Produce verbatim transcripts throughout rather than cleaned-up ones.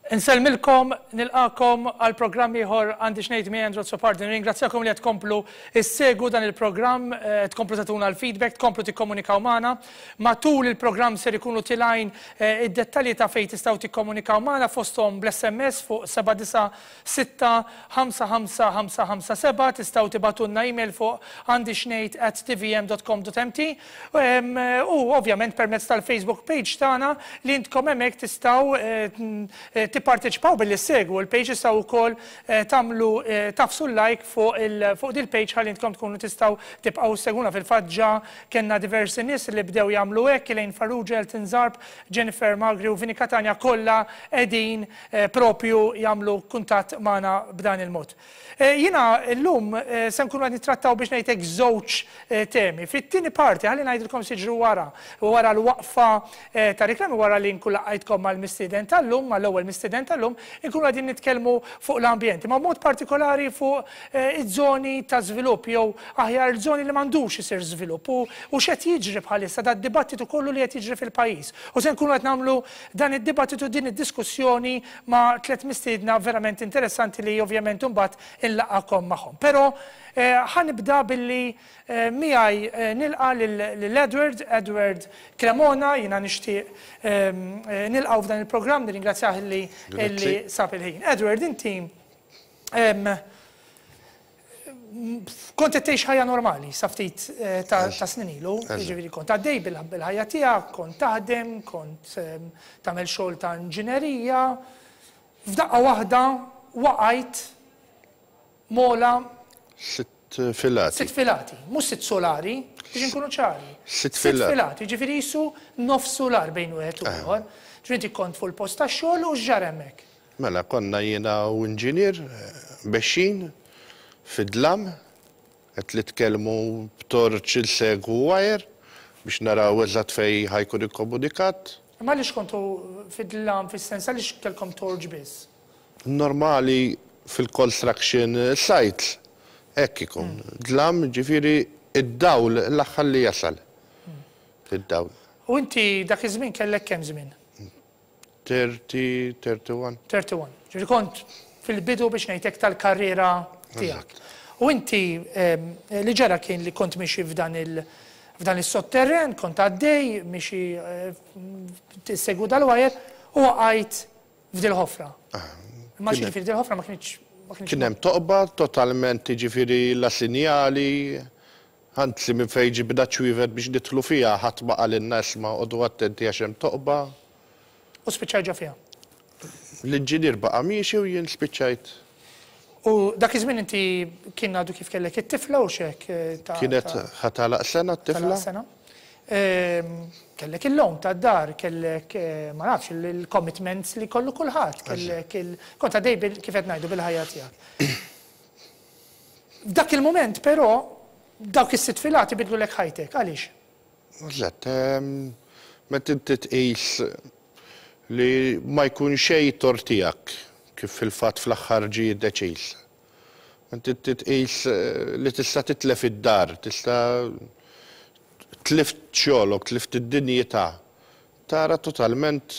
Insellmilkom, nilqagħkom għal programm ieħor Għandi x'Ngħid miegħi Andrew Azzopardi. Ringrazzjakom li qed tkomplu issegwu dan il-programm, eh, tkomplu tagħtuna l-feedback, tkomplu tikkomunikaw magħna. Matul il-programm ser ikunu telgħin eh, id-dettalji ta' fejn tistgħu tikkomunikaw magħna, fosthom bl-S M S fuq seba' disa' sitta ħamsa ħamsa ħamsa ħamsa seba', tistgħu tibagħtulna email fuq għandixngħid at T V M dot com dot M T u ovvjament permezz tal-Facebook page tagħna li intkom hemmhekk tistgħu eh, tipparteċipaw billi ssegwu l-page, tistgħu wkoll eh, tagħmlu eh, tagħfsu like fuq il fuq dil-page ħalli intkom tkunu tistgħu tibqgħu ssegwuna. Fil-fatt ġa kellna diversi nies li bdew jagħmlu hekk: Elaine Farrugia, Elton Zarb, Jennifer Magri u Vini Catania, kollha qegħdin eh, propju jagħmlu kuntatt magħna b'dan il-mod. Jiena llum se nkunu qed nittrattaw, biex ngħidlek, żewġ temi. Fit-tieni parti, ħalli ngħidilkom x'jiġri wara, wara l-waqfa ta' reklami, wara li nkun laqajtkom mal-mistieden tal-lum, mal-ewwel mistieden tal-lum, inkunu qegħdin nitkellmu fuq l-ambjent, ma mod partikolari fuq iż-żoni ta' żvilupp jew aħjar il-żoni li m'għandux isir żvilupp u u x'qed jiġri bħalissa, da dibattitu kollu li qed jiġri fil-pajjiż. U se nkunu qed nagħmlu dan id-dibattitu, din id-diskussjoni ma' tliet mistiedna verament interessanti li ovvjament imbagħad inlaqqagħkom magħhom. Però ħa nibda billi miegħi nilqa' lil Edward, Edward Cremona. Jiena nixtieq nilqgħu f'dan il-programm, nirringrazzjah li li sab il-ħin. Edward, inti kont qed tgħix ħajja normali sa ftit ta' snin ilu, jiġifieri kont għaddej bil-ħajja tiegħek, kont taħdem, kont tagħmel xogħol ta' inġinerija. F'daqqa waħda waqajt mola. Sitt filati. Sitt filati, mhux sitt solari, biex nkunu ċari. Sitt filati. Filati, ġifieri jisu nofs solar bejn wieħed u ieħor. Ġifieri inti kont fuq il-post tax-xogħol u x'ġara hemmhekk? Mela, konna jiena u inġinier mexjin fid-dlam, qed nitkellmu b'torċ, insegwu wire biex naraw eżatt fejn ħa jkun ikkomunikat. Ma għaliex kontu fid-dlam, fis-sens għaliex kellkom torch biss? Normali fil-construction sites hekk ikun. Dlam, ġifieri id-dawl l-aħħar li jasal. Id-dawl. U inti dak iż-żmien kellek kemm żmien? tletin, wieħed u tletin. wieħed u tletin. Ġifieri kont fil-bidu, biex ngħidlek, tal-karriera tiegħek. U inti li ġara kien li kont miexi f'dan il- f'dan is-sotterren, kont għaddej, miexi tissegwu dal-wire u waqajt f'dil ħofra. Ma xi ġifieri dil-ħofra ma kienx Kien hemm toqba totalment, ġifieri la sinjali, anzi minn fejn ġibna ċwievet biex nidħlu fiha, ħadd ma qalilna, "Isma', oqogħdu attenti għax hemm toqba." U spiċċajt ġo fiha. L-inġinier baqa' miexi u jien spiċċajt. U dak iż-żmien inti kien għadu kif kellek it-tifla u xek? Kienet ħa tagħlaq sena t-tifla. Sena. Kellek il-loan ta' dar, kellek, ma nafx, il-commitments li kollu kulħadd, kellek il kont għaddej kif qed ngħidu bil-ħajja tiegħek. F'dak il-moment però dawk is-sitt filati bidlulek ħajtek, għaliex? Eżatt, meta inti tqis li ma jkun xejn tort tiegħek, kif fil-fatt fl-aħħar ġie deċiż. Inti tqis li tista' titlef id-dar, tista' tlift xogħolok, tlift id-dinjità. Tara totalment.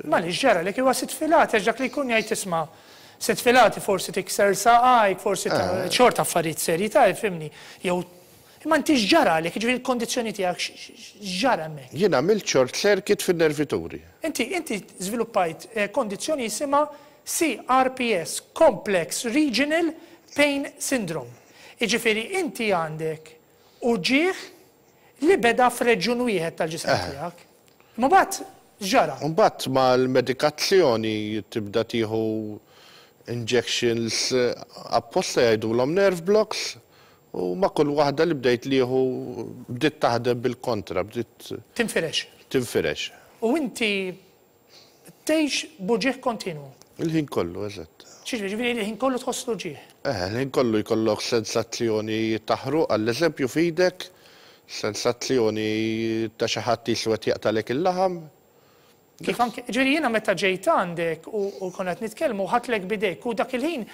Ma li ġara li huwa sitt filati, għax dak li jkun jgħid, "Isma', sitt filati, forsi tikser saqajk, forsi xorta affarijiet serji ta' fhimni." Jew imma inti x'ġara li ġifieri il-kondizzjoni tiegħek, x'ġara hemmhekk? Jien għamilt short circuit fin-nervituri. Inti inti żviluppajt kondizzjoni jisimha C R P S, Complex Regional Pain Syndrome. Jiġifieri inti għandek uġieħ li beda f'reġjun wieħed tal-ġisem tiegħek. Ma mbagħad x'ġara? Mbagħad mal-medikazzjoni tibda tieħu injections apposta jgħidulhom nerve blocks u ma' kull waħda li bdejt nieħu bdiet taħdem bil-kontra, bdiet tinfirex. Tinfirex. U inti tgħix b'uġigħ kontinu. Il-ħin kollu, eżatt. Ġifieri il-ħin kollu tħoss l-uġigħ. Eh, il-ħin kollu jkollok sensazzjoni taħruq, għall-eżempju f'idek, sensazzjoni ta' xi ħadd jiswed jaqtalek il-laħam. Kif anke, ġifieri jiena meta ġejt għandek u, u konna qed nitkellmu, ħadtlek b'idejk u dak il-ħin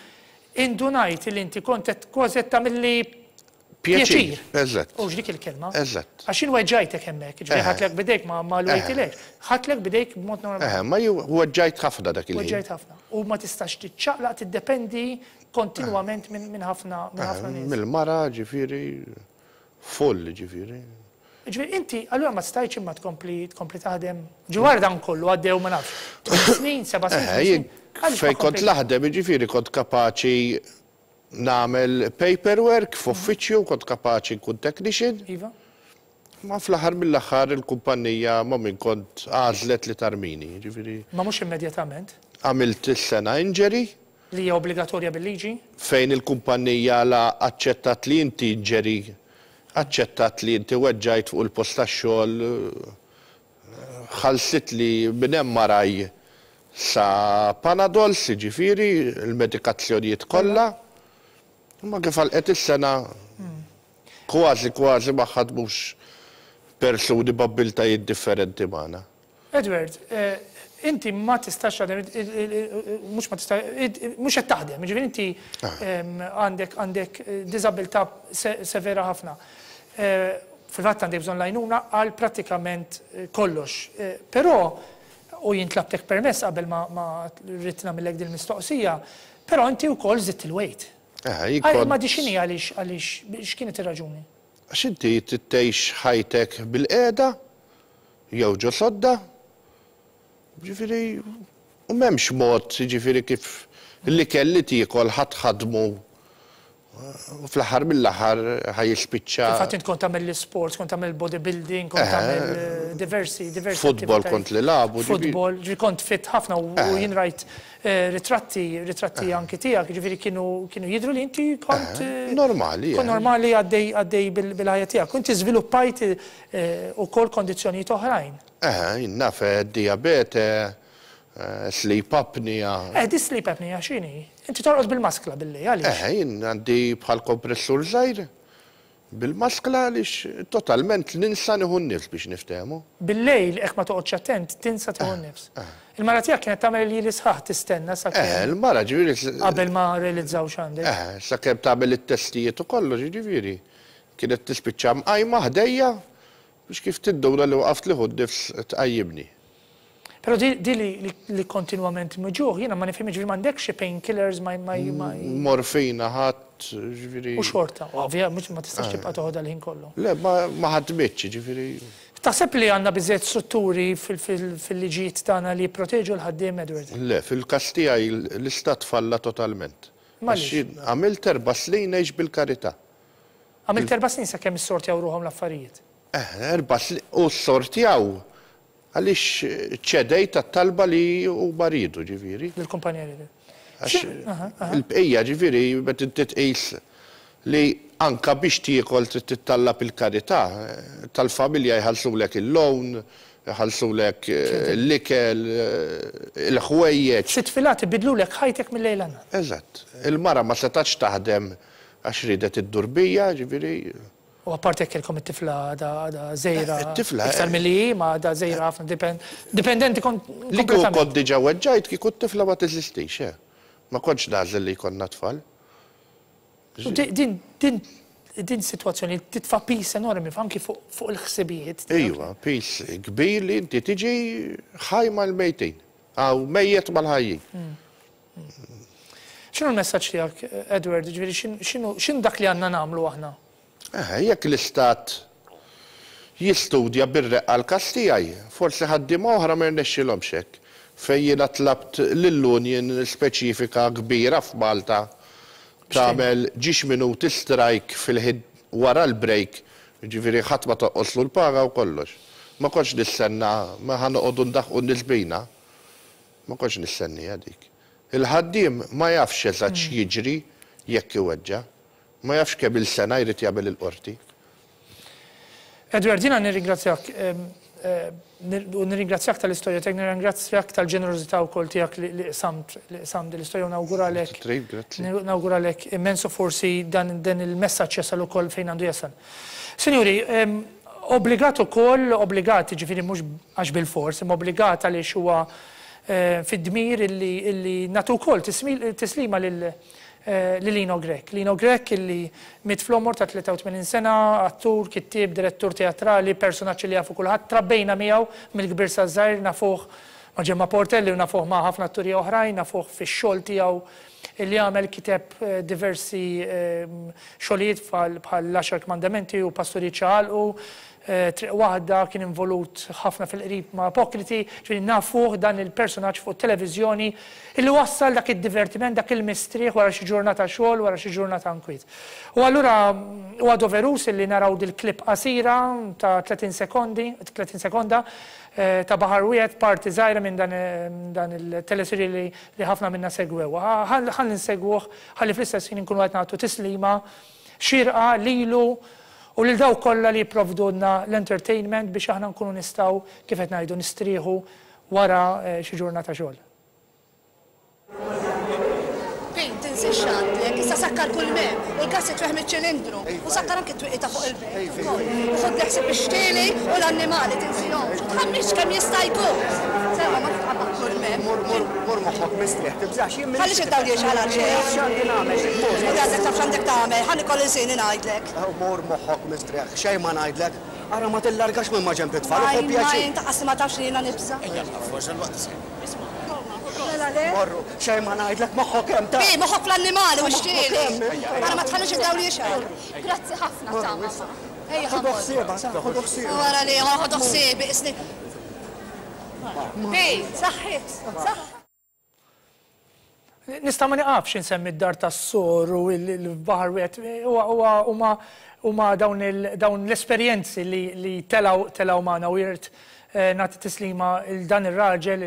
indunajt li inti kont qed kważi qed tagħmilli Pjaċir. Eżatt. U dik il-kelma. Eżatt. Għax jien weġġajtek hemmhekk, ġifieri ħadtlek b'idejk ma ma lwejtilek. Ħadtlek b'idejk b'mod normali. Eh, ma weġġajt ħafna dak il-ħin. Weġġajt ħafna. U ma tistax tiċċaqlaq, tiddependi kontinwament minn ħafna minn ħafna nies. Mill-mara, ġifieri, full, ġifieri. Ġifieri inti allura ma stajtx imma tkompli tkompli taħdem. Ġwar dan kollu għaddew ma nafx. Tmien snin, seba' snin. Fej kont naħdem, ġifieri kont kapaċi nagħmel paperwork f'uffiċċju, kont kapaċi nkun technician. Iva. Ma fl-aħħar mill-aħħar il-kumpanija ma min kont għażlet li tarmini, ġifieri. Ma mhux immedjatament. Għamilt is-sena injury. Li hija obbligatorja bil-liġi. Fejn il-kumpanija la aċċettat li inti injury, aċċettat li inti weġġajt fuq il-post tax-xogħol, ħallsit li minn hemm maraj sa Panadols, ġifieri, il-medikazzjonijiet kollha. Ma kif għalqet is-sena kważi kważi ma ħadmux persuni b'abbiltajiet differenti magħna. Edward, inti ma tistax taħdem, mhux ma tistax, mhux qed taħdem, ġifieri inti għandek għandek diżabilità severa ħafna. Fil-fatt għandek bżonn l-għajnuna għal prattikament kollox. Però, u jien tlabtek permess qabel ma rrid nagħmillek din mistoqsija, però inti wkoll żidt il-weight. Ma di x'inhi għaliex għaliex x'kienet ir-raġuni? Għax inti tgħix ħajtek bil-qiegħda jew ġo sodda. Ġifieri, u m'hemmx mod, ġifieri kif l-ikel li tiekol ħadd ħadmu u fl-aħħar mill-aħħar ħa jispiċċa. Fil-fatt int kont tagħmel l-isports, kont tagħmel bodybuilding, kont tagħmel diversi diversi. Futbol kont li labu. Futbol, ġifieri kont fit ħafna u jien rajt ritratti, ritratti anki tiegħek, ġifieri kienu kienu jidhru li inti kont normali. Kont normali għaddej għaddej bil-ħajja tiegħek. Inti żviluppajt ukoll kondizzjonijiet oħrajn. Eh, jien naf diabete, sleep apnea. Eh, di sleep apnea x'inhi? Inti torqod bil-maskla billi, għaliex? Eh, jien għandi bħal kompressur żgħir bil-maskla għaliex totalment ninsa nieħu n-nifs biex niftehmu. Bil-lejl, hekk ma toqgħodx attent, tinsa tieħu n-nifs. Il-mara tiegħek kienet tagħmel lili sħaħ tistenna sakemm. Eh, il-mara ġifieri. Qabel ma realizzaw x'għandek. Eh, sakemm tagħmel it-testijiet u kollox, ġifieri. Kienet tispiċċa mqajma ħdejja biex kif tinduna li waqaft nieħu n-nifs tqajjimni. Però di li kontinwament muġugħ, jiena ma nifhimx, ġifieri m'għandekx xi painkillers ma ma. Morfina ħadd, ġifieri. U xorta, ovvja, mhux ma tistax tibqa' toħodha l-ħin kollu. Le, ma ħadmitx, ġifieri. Taħseb li għandna biżżejjed strutturi fil-liġijiet tagħna li jipproteġu l-ħaddiem, Edward? Le, fil-każ tiegħi l-istat falla totalment. Għaliex? Għamilt erba' snin ngħix bil-karità. Għamilt erba' snin sakemm issortjaw ruħhom l-affarijiet? Eh, erba' snin, u ssortjaw għaliex ċedejt għat-talba li huma riedu, ġifieri. Lill-kumpanija riedu. Għax il-bqija, ġifieri, meta inti tqis li anka biex tiekol trid tittallab il-karità, tal-familja jħallsulek il-loan, jħallsulek l-ikel, il-ħwejjeġ. Sitt filati bidlulek ħajtek mill-lejl għan-nhar. Eżatt. Il-mara ma setgħetx taħdem għax riedet iddur bija, ġifieri. U apparti jekk kellkom it-tifla għadha għadha żgħira. It-tifla. Iktar milli hi, ma għadha żgħira ħafna, dipendenti kont. Li kieku kont diġà weġġajt kieku t-tifla ma teżistix, eh. Ma kontx nagħżel li jkollna tfal. Din din din sitwazzjoni titfa' piż enormi anki fuq il-ħsibijiet. Iva, piż kbir li inti tiġi ħaj mal-mejtin, aw mejjet mal-ħajjin. X'inhu l-messaġġ tiegħek, Edward? Ġifieri x'inhu x'inhu dak li għandna nagħmlu aħna? Eh, jekk l-istat jistudja bir-reqqa l-każ tiegħi, forsi ħaddiema oħra ma jirnexxilhomx hekk. Fejn jiena tlabt lill-union speċifika kbira f'Malta tagħmel ġiex minuti strike fil-ħin wara l-break, jiġifieri ħadd ma tonqoslu l-paga u kollox. Ma kontx nistenna, ma ħa noqogħdu ndaħħqu n-nies bina. Ma kontx nistenniha dik. Il-ħaddiem ma jafx eżatt x'jiġri jekk iweġġa'. Ma jafx kemm il-sena jrid jagħmel il-qorti. Edward, jiena nirringrazzjak u nirringrazzjak tal-istorja tiegħek, nirringrazzjak tal-ġenerożità wkoll tiegħek li qsamt li qsamt din l-istorja u nawguralek. Nawguralek immens u forsi dan dan il-messaġġ jasal ukoll fejn għandu jasal. Sinjuri, obbligat ukoll, obbligat, jiġifieri mhux għax bilfors, imma obbligat għaliex huwa fid-dmir illi nagħtu wkoll tislima lil Lino Grech. Lino Grech illi miet fl-għomor ta' tlieta u tmenin sena, attur, kittieb, direttur teatrali, personaġġ li jafu kulħadd, trabbejna miegħu mill-kbir sa żgħir, nafuh ma' Ġemma Portelli u nafuh ma' ħafna atturi oħrajn, nafuh fix-xogħol tiegħu li għamel, kiteb diversi xogħlijiet bħal l-Għaxar Kmandamenti u Pasturi Ċaqalqu, Triq Waħda, kien involut ħafna fil-qrib ma' Apokriti, ġifieri nafuh dan il-personaġġ fuq televiżjoni illi wassal dak id-divertiment, dak il-mistrieħ wara xi ġurnata xogħol, wara xi ġurnata nkwiet. U allura huwa doverus illi naraw dil-klip qasira ta' tletin sekondi, tletin sekonda ta' Baħar Wieħed, parti żgħira minn dan il-teleserje li ħafna minna segwew. Ħalli nsegwuh, ħalli fl-istess ħin inkunu qed nagħtu tislima xirqa lilu u lil dawk kollha li jipprovdulna l-entertainment biex aħna nkunu nistgħu, kif qed ngħidu, nistrieħu wara xi ġurnata xogħol. Pin, tinsiex għandek, issa sakkar kull mem, u l-gas jitweħ miċ-ċilindru, u sakkar anke t-twieqi ta' fuq il-bejt ukoll. U ħodd ħsieb ix-xtieli u l-annimali tinsihomx, u tħammix kemm jista' jkun. Sewwa ma titqabbad kull mem. Mur, mur, mur moħħok mistrieħ, tibżax, jien Ħallix id-dawl jixgħal għal xejn. X'għandi nagħmel? Inti għandek taf x'għandek tagħmel, ħa nikol ilsieni ngħidlek. Mur moħħok mistrieħ, xejn ma ngħidlek. Ara ma tillargax minn ma ġenb it-tfal, u pjaċir. Ajma, inta qassi ma tafx li jiena nibża'. Ejja, forsi l-waqt isir. Morru, xejn ma ngħidlek, moħħok hemm ta'. Bi, moħħok fl-annimali u x-xtieli. Ara ma tħallix id-dawl jixgħal. Grazzi ħafna ta' mama. Ejja, ħodu ħsiebha, ħodu ħsiebha. Wara li ħodu ħsiebi, isni. Bi, saħħit, saħħ. Nista' ma niqafx insemmi d-dar tas-sor u l-baħar wieħed, huma huma dawn l-esperjenzi li telgħu telgħu magħna u jirt nagħti tislima il dan ir-raġel,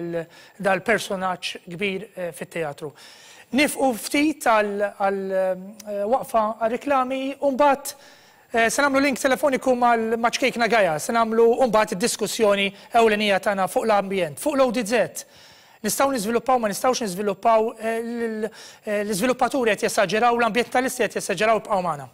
dal-personaġġ kbir fit-teatru. Nifqu ftit għal waqfa għal-reklami u mbagħad se nagħmlu link telefoniku ma' Ċkejkna Gaja, se nagħmlu mbagħad id-diskussjoni ewlenija tagħna fuq l-ambjent, fuq l-O D Z. Nistgħu niżviluppaw, ma nistgħux niżviluppaw, l-iżviluppaturi qed jesaġeraw, l-ambjentalisti qed jesaġeraw, ibqgħu magħna.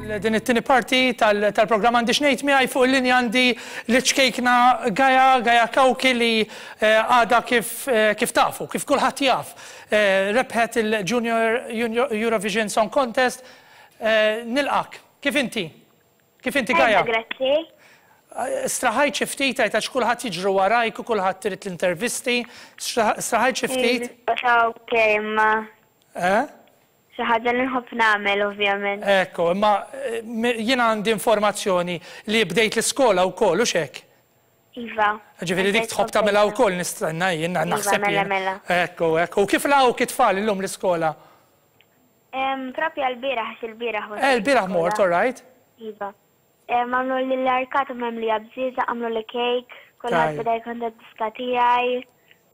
Din it-tieni parti tal-programm għandi x'ngħid miegħi fuq il-linja għandi l-ċkejkna Gaia, Gaia Cauchi li għadha kif kif tafu, kif kulħadd jaf. Rebħet il-Junior Eurovision Song Contest. Nilqak, kif inti? Kif inti Gaia? Grazzi. Straħajt xi ftit għax kulħadd jiġru warajk u kulħadd irid l-intervisti. Straħajt xi ftit? Ok, ma. Eh? Xi ħaġa li nħobb nagħmel ovvjament. Ekku, imma jiena għandi informazzjoni li bdejt l-iskola wkoll u xek. Iva. Ġifieri dik tħobb tagħmilha wkoll nistenna jien naħseb. Mela, mela. Ekku, ekku. U kif laqgħuk it-tfal illum l-iskola? Propja l-bieraħ, għax il-bieraħ. Eh, l-bieraħ mort, all right? Iva. Għamlu li l-arkata mimlija bżieżaq, għamlu li cake, kulħadd beda jkun diska tiegħi.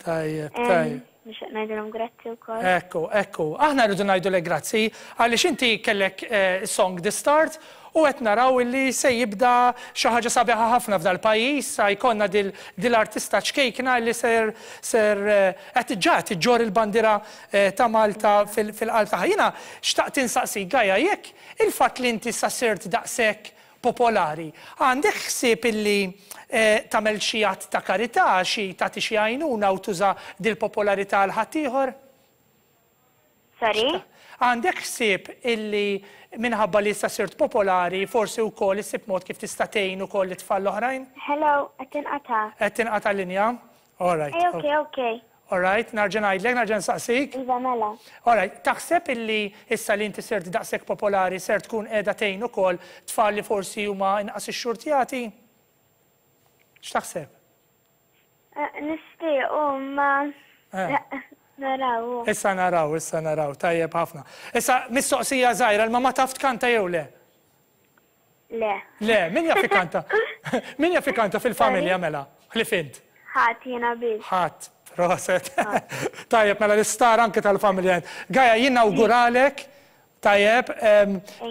Tajjeb, tajjeb. Nixtieq ngħidilhom grazzi wkoll. Ekku, ekku. Aħna rridu ngħidulek grazzi għaliex inti kellek song The Start u qed naraw illi se jibda xi ħaġa sabiħa ħafna f'dal pajjiż, sa jkollna dil-artista ċkejkna li ser ser qed ġa iġġorr il-bandiera ta' Malta fil-qalb tagħha. Jiena xtaqt insaqsik Gaia jekk il-fatt li inti sa sirt daqshekk popolari, għandek ħsieb illi tagħmel xi att ta' karità, xi tagħti xi għajnuna u tuża dil-popolarità għal ħaddieħor? Sorry? Għandek ħsieb illi minħabba li issa sirt popolari, forsi wkoll issib mod kif tista' tgħin ukoll it-tfal l-oħrajn? Hello, qed tinqata'. Qed tinqata' linja? All right. Eh, okay, okay. All right, nerġa' ngħidlek, nerġa' nsaqsik. Iva, mela. All right, taħseb illi issa li inti sirt daqshekk popolari ser tkun qiegħda tgħin ukoll tfal li forsi huma inqas ixxurtjati? X'taħseb? Nixtieq, ma naraw. Issa naraw, issa naraw, tajjeb ħafna. Issa mistoqsija żgħira, l-mamma taf tkanta jew le? Le. Le, min jaf ikanta? Min jaf ikanta fil-familja mela? Ħlief int? Ħadd jiena biss. Ħadd. Proset. Tajjeb, mela l-istar anke tal-familja. Gaia, jien nawguralek, tajjeb,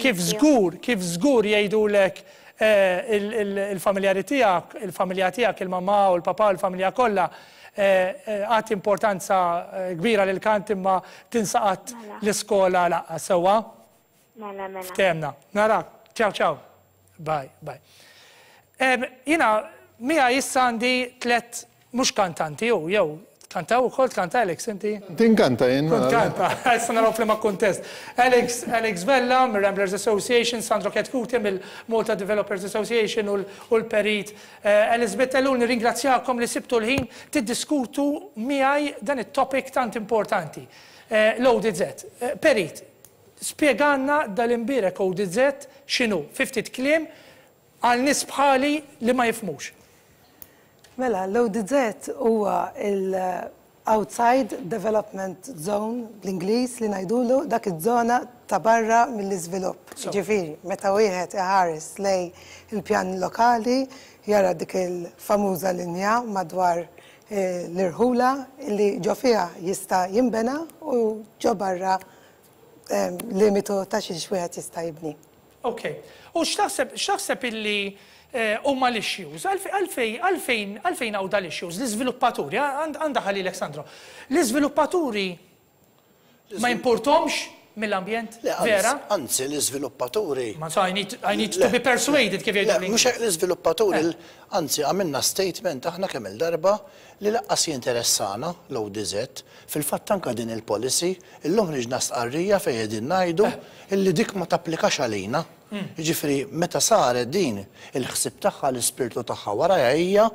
kif żgur, kif żgur jgħidulek il-familjari tiegħek, il-familja tiegħek, il-mamma u l-papa u l-familja kollha, għati importanza kbira lil kant imma tinsaqat l-iskola laqqa sewwa. Mela, mela. Ftemna. Narak. Ciao, ciao. Bye, bye. Jiena, mija issa għandi tlet mhux kantanti, jew, jew, kantaw ukoll, tkanta Alex, inti? Tinkanta jien. Kanta, issa naraw f'liema kuntest. Alex, Alex Vella mill-Ramblers Association, Sandro Chetcuti mill-Malta Developers Association u l-Perit Elizabeth Ellul, nirringrazzjakom li sibtu l-ħin tiddiskutu miegħi dan it-topic tant importanti. L-O D Z. Perit, spjegalna dal-imbierek O D Z x'inhu, fi ftit kliem għal nies bħali li ma jifhmux. Mela, l-O D Z huwa il-Outside Development Zone bl-Ingliż li ngħidulu dak iż-żona ta' barra mill-iżvilupp. Ġifieri, meta wieħed iħares lejn il-pjan lokali, jara dik il-famuża linja madwar eh, l-irħula li ġo fiha jista' jinbena u ġo barra eh, limitu ta' xiex wieħed jista' jibni. Ok. U x'taħseb x'taħseb illi eh, huma l-issues? Għalfejn għalfejn għalfejn hawn dal-issues? L-iżviluppaturi, għandha ħalilek Sandro. L-iżviluppaturi ma jimpurtomx mill-ambjent? Vera? Anzi, l-iżviluppaturi. Ma so I need, I need to be persuaded kif jgħidu. Mhux hekk l-iżviluppaturi, anzi għamilna statement aħna kemm il-darba li lanqas jinteressana l-O D Z. Fil-fatt anka din il-policy, illum ħriġna stqarrija fejn qegħdin ngħidu illi dik ma tapplikax għalina. Jiġifieri meta saret din il-ħsib tagħha, l-ispirtu tagħha warajha hija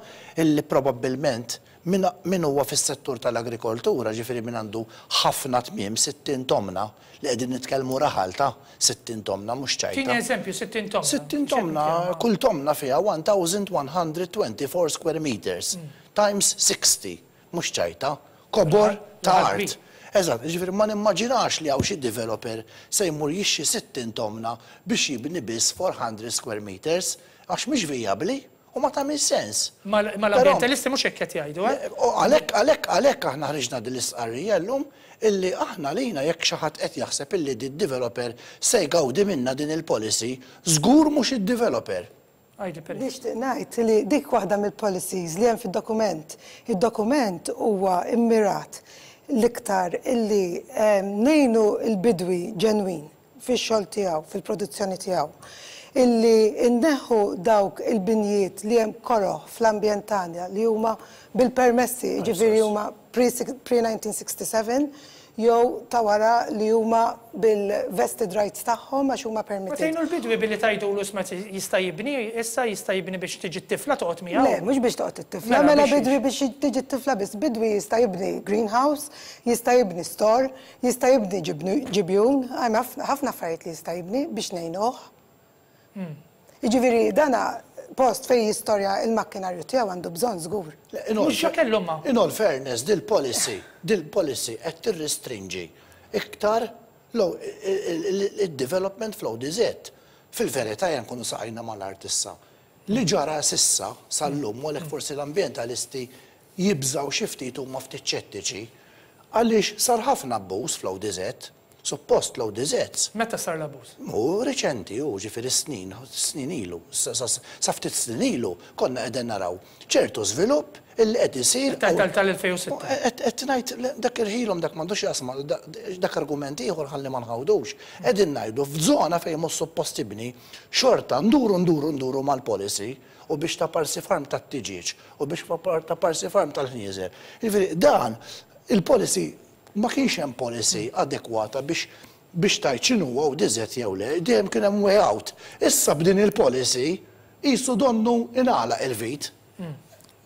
illi probabbilment min huwa fis-settur tal-agrikoltura, ġifieri min għandu ħafna tmiem, sittin tomna, li qegħdin nitkellmu raħal ta' sittin tomna mhux ċajta. Tini eżempju, sittin tomna. sittin tomna, kull tomna fiha elf u wieħed u disgħin square meters times sixty, mhux ċajta, kobor ta' art. Eżatt, ġifieri ma nimmaġinax li hawn xi developer se jmur jixtri sittin tomna biex jibni biss erba' mija square meters, għax mhix vijabbli u ma tagħmel sens. Ma l-ambientalisti mhux hekk qed jgħidu, eh? Għalhekk għalhekk għalhekk aħna ħriġna din l-istqarrija llum illi aħna lina jekk xi ħadd qed jaħseb illi di developer se jgawdi minna din il-policy, żgur mhux id-developer. Nixtieq ngħid li dik waħda mill-policies li hemm fid-dokument. Id-dokument huwa immirat l-iktar illi ngħinu il-bidwi ġenwin. fix-xogħol tiegħu, fil-produzzjoni tiegħu. Illi nneħħu dawk il-binjiet li hemm koroh fl-ambjent tagħna li huma bil-permessi, jiġifieri huma pre nineteen sixty-seven jew ta' wara li huma bil-vested rights tagħhom għax huma Ma permitted. tgħinu l-bidwi billi tgħidulu isma' jista' jibni, issa jista' jibni biex tiġi t-tifla toqgħod miegħu? Le, mhux biex toqgħod it-tifla, Mela, mela biex bidwi biex tiġi t-tifla biss. Bidwi jista' jibni greenhouse, jista' jibni store, jista' jibni ġibnu- ġibjun, hemm ħafna ħafna affarijiet li jista' jibni biex ngħinuh. Jiġifieri dana post fejn jistorja il-makkinarju tiegħu għandu bżonn żgur. In all Mhux ġa kellhom ma. In all fairness, dil-policy, dil-policy qed tirrestrinġi iktar il-development fl-O D Z. Fil-verità jan kunu saqajna mal-art issa. Li ġara s'issa sal-lum, u għalhekk forsi l-ambientalisti jibżaw xi ftit huma ftit ċettiċi, għaliex sar ħafna abbuż fl-O D Z, suppost l-O D Zs Meta sar l-abbuż? Mu reċenti, u ġifieri snin, snin ilu, sa sa- sa ftit snin ilu, konna qegħdin naraw ċertu żvilupp illi qed isir. Tal-elfejn u sitta. Qed qed ngħid dak irħilhom, dak m'għandux jasma, dak argument ieħor ħalli ma nħawdux. Qegħdin ngħidu f'żona fejn mhux suppost tibni, xorta nduru nduru nduru mal-policy u biex ta' parsi farm tat-tiġieġ u biex ta' parsi farm tal-ħnieżer. Jiġifieri dan il-policy ma kienx hemm policy adekwata biex biex tgħid x'inhu O D Z jew le, dejjem kien hemm way out. Issa b'din il-policy qisu donnu ingħalaq il-vit.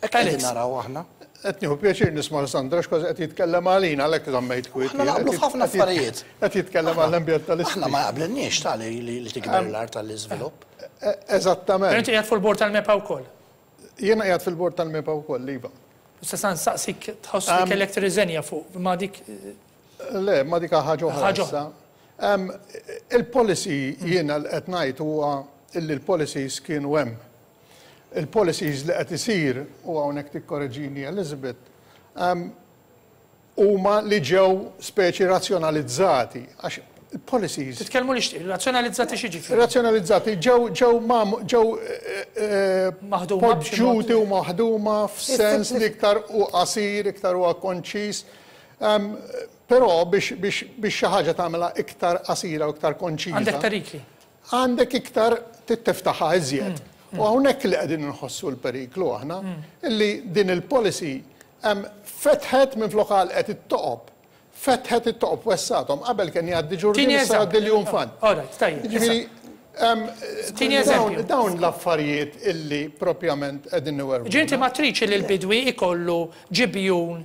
Hekk qegħdin naraw aħna. Qed nieħu pjaċir nisma' Sandra x'kważi qed jitkellem għalina, għalhekk żammejt kwiet. Aħna naqblu f'ħafna affarijiet. Qed jitkellem għall-ambientalisti. Aħna ma jaqblilniex ta' li li tikber l-art tal-iżvilupp. Eżattament. Però inti qiegħed fuq il-bord tal-MEPA wkoll. Jiena qiegħed fil-bord tal-MEPA wkoll, iva. Issa sa nsaqsik tħoss li kellek tirriżenja fuq ma dik. Le, ma dik ħaġa oħra. Ħaġa issa. Em, Il-policy jiena li qed ngħid huwa illi l-policies kienu hemm. Il-policies li qed isir, u hawnhekk tikkoreġini Elizabeth, em, huma li ġew speċi razzjonalizzati għax il-policies Titkellmu li xtieq, razzjonalizzati xi ġifieri? Razzjonalizzati ġew ġew mam ġew eh, eh, Maħduma b'xi mod. poġġuti u maħduma f'sens li iktar u qasir, iktar huwa konċis. Em, Però biex biex biex xi ħaġa tagħmilha iktar qasira u iktar konċiża. Għandek perikli. Għandek iktar tiftaħha iżjed. U hawnhekk li qegħdin nħossu l-periklu aħna, illi din il-policy em, fetħet minn flok għalqet it-toqob. Fetħet it-toqob, wessgħethom, qabel kien jgħaddi ġurdien, Tini issa jgħaddi eżempju. l-iljunfant. All right, tajjeb. Ġifieri, em, Tini dawn- eżempju. Dawn l-affarijiet illi propjament qegħdin niwerbu. Ġinti ma tridx li l-bidwi ikollu ġibjun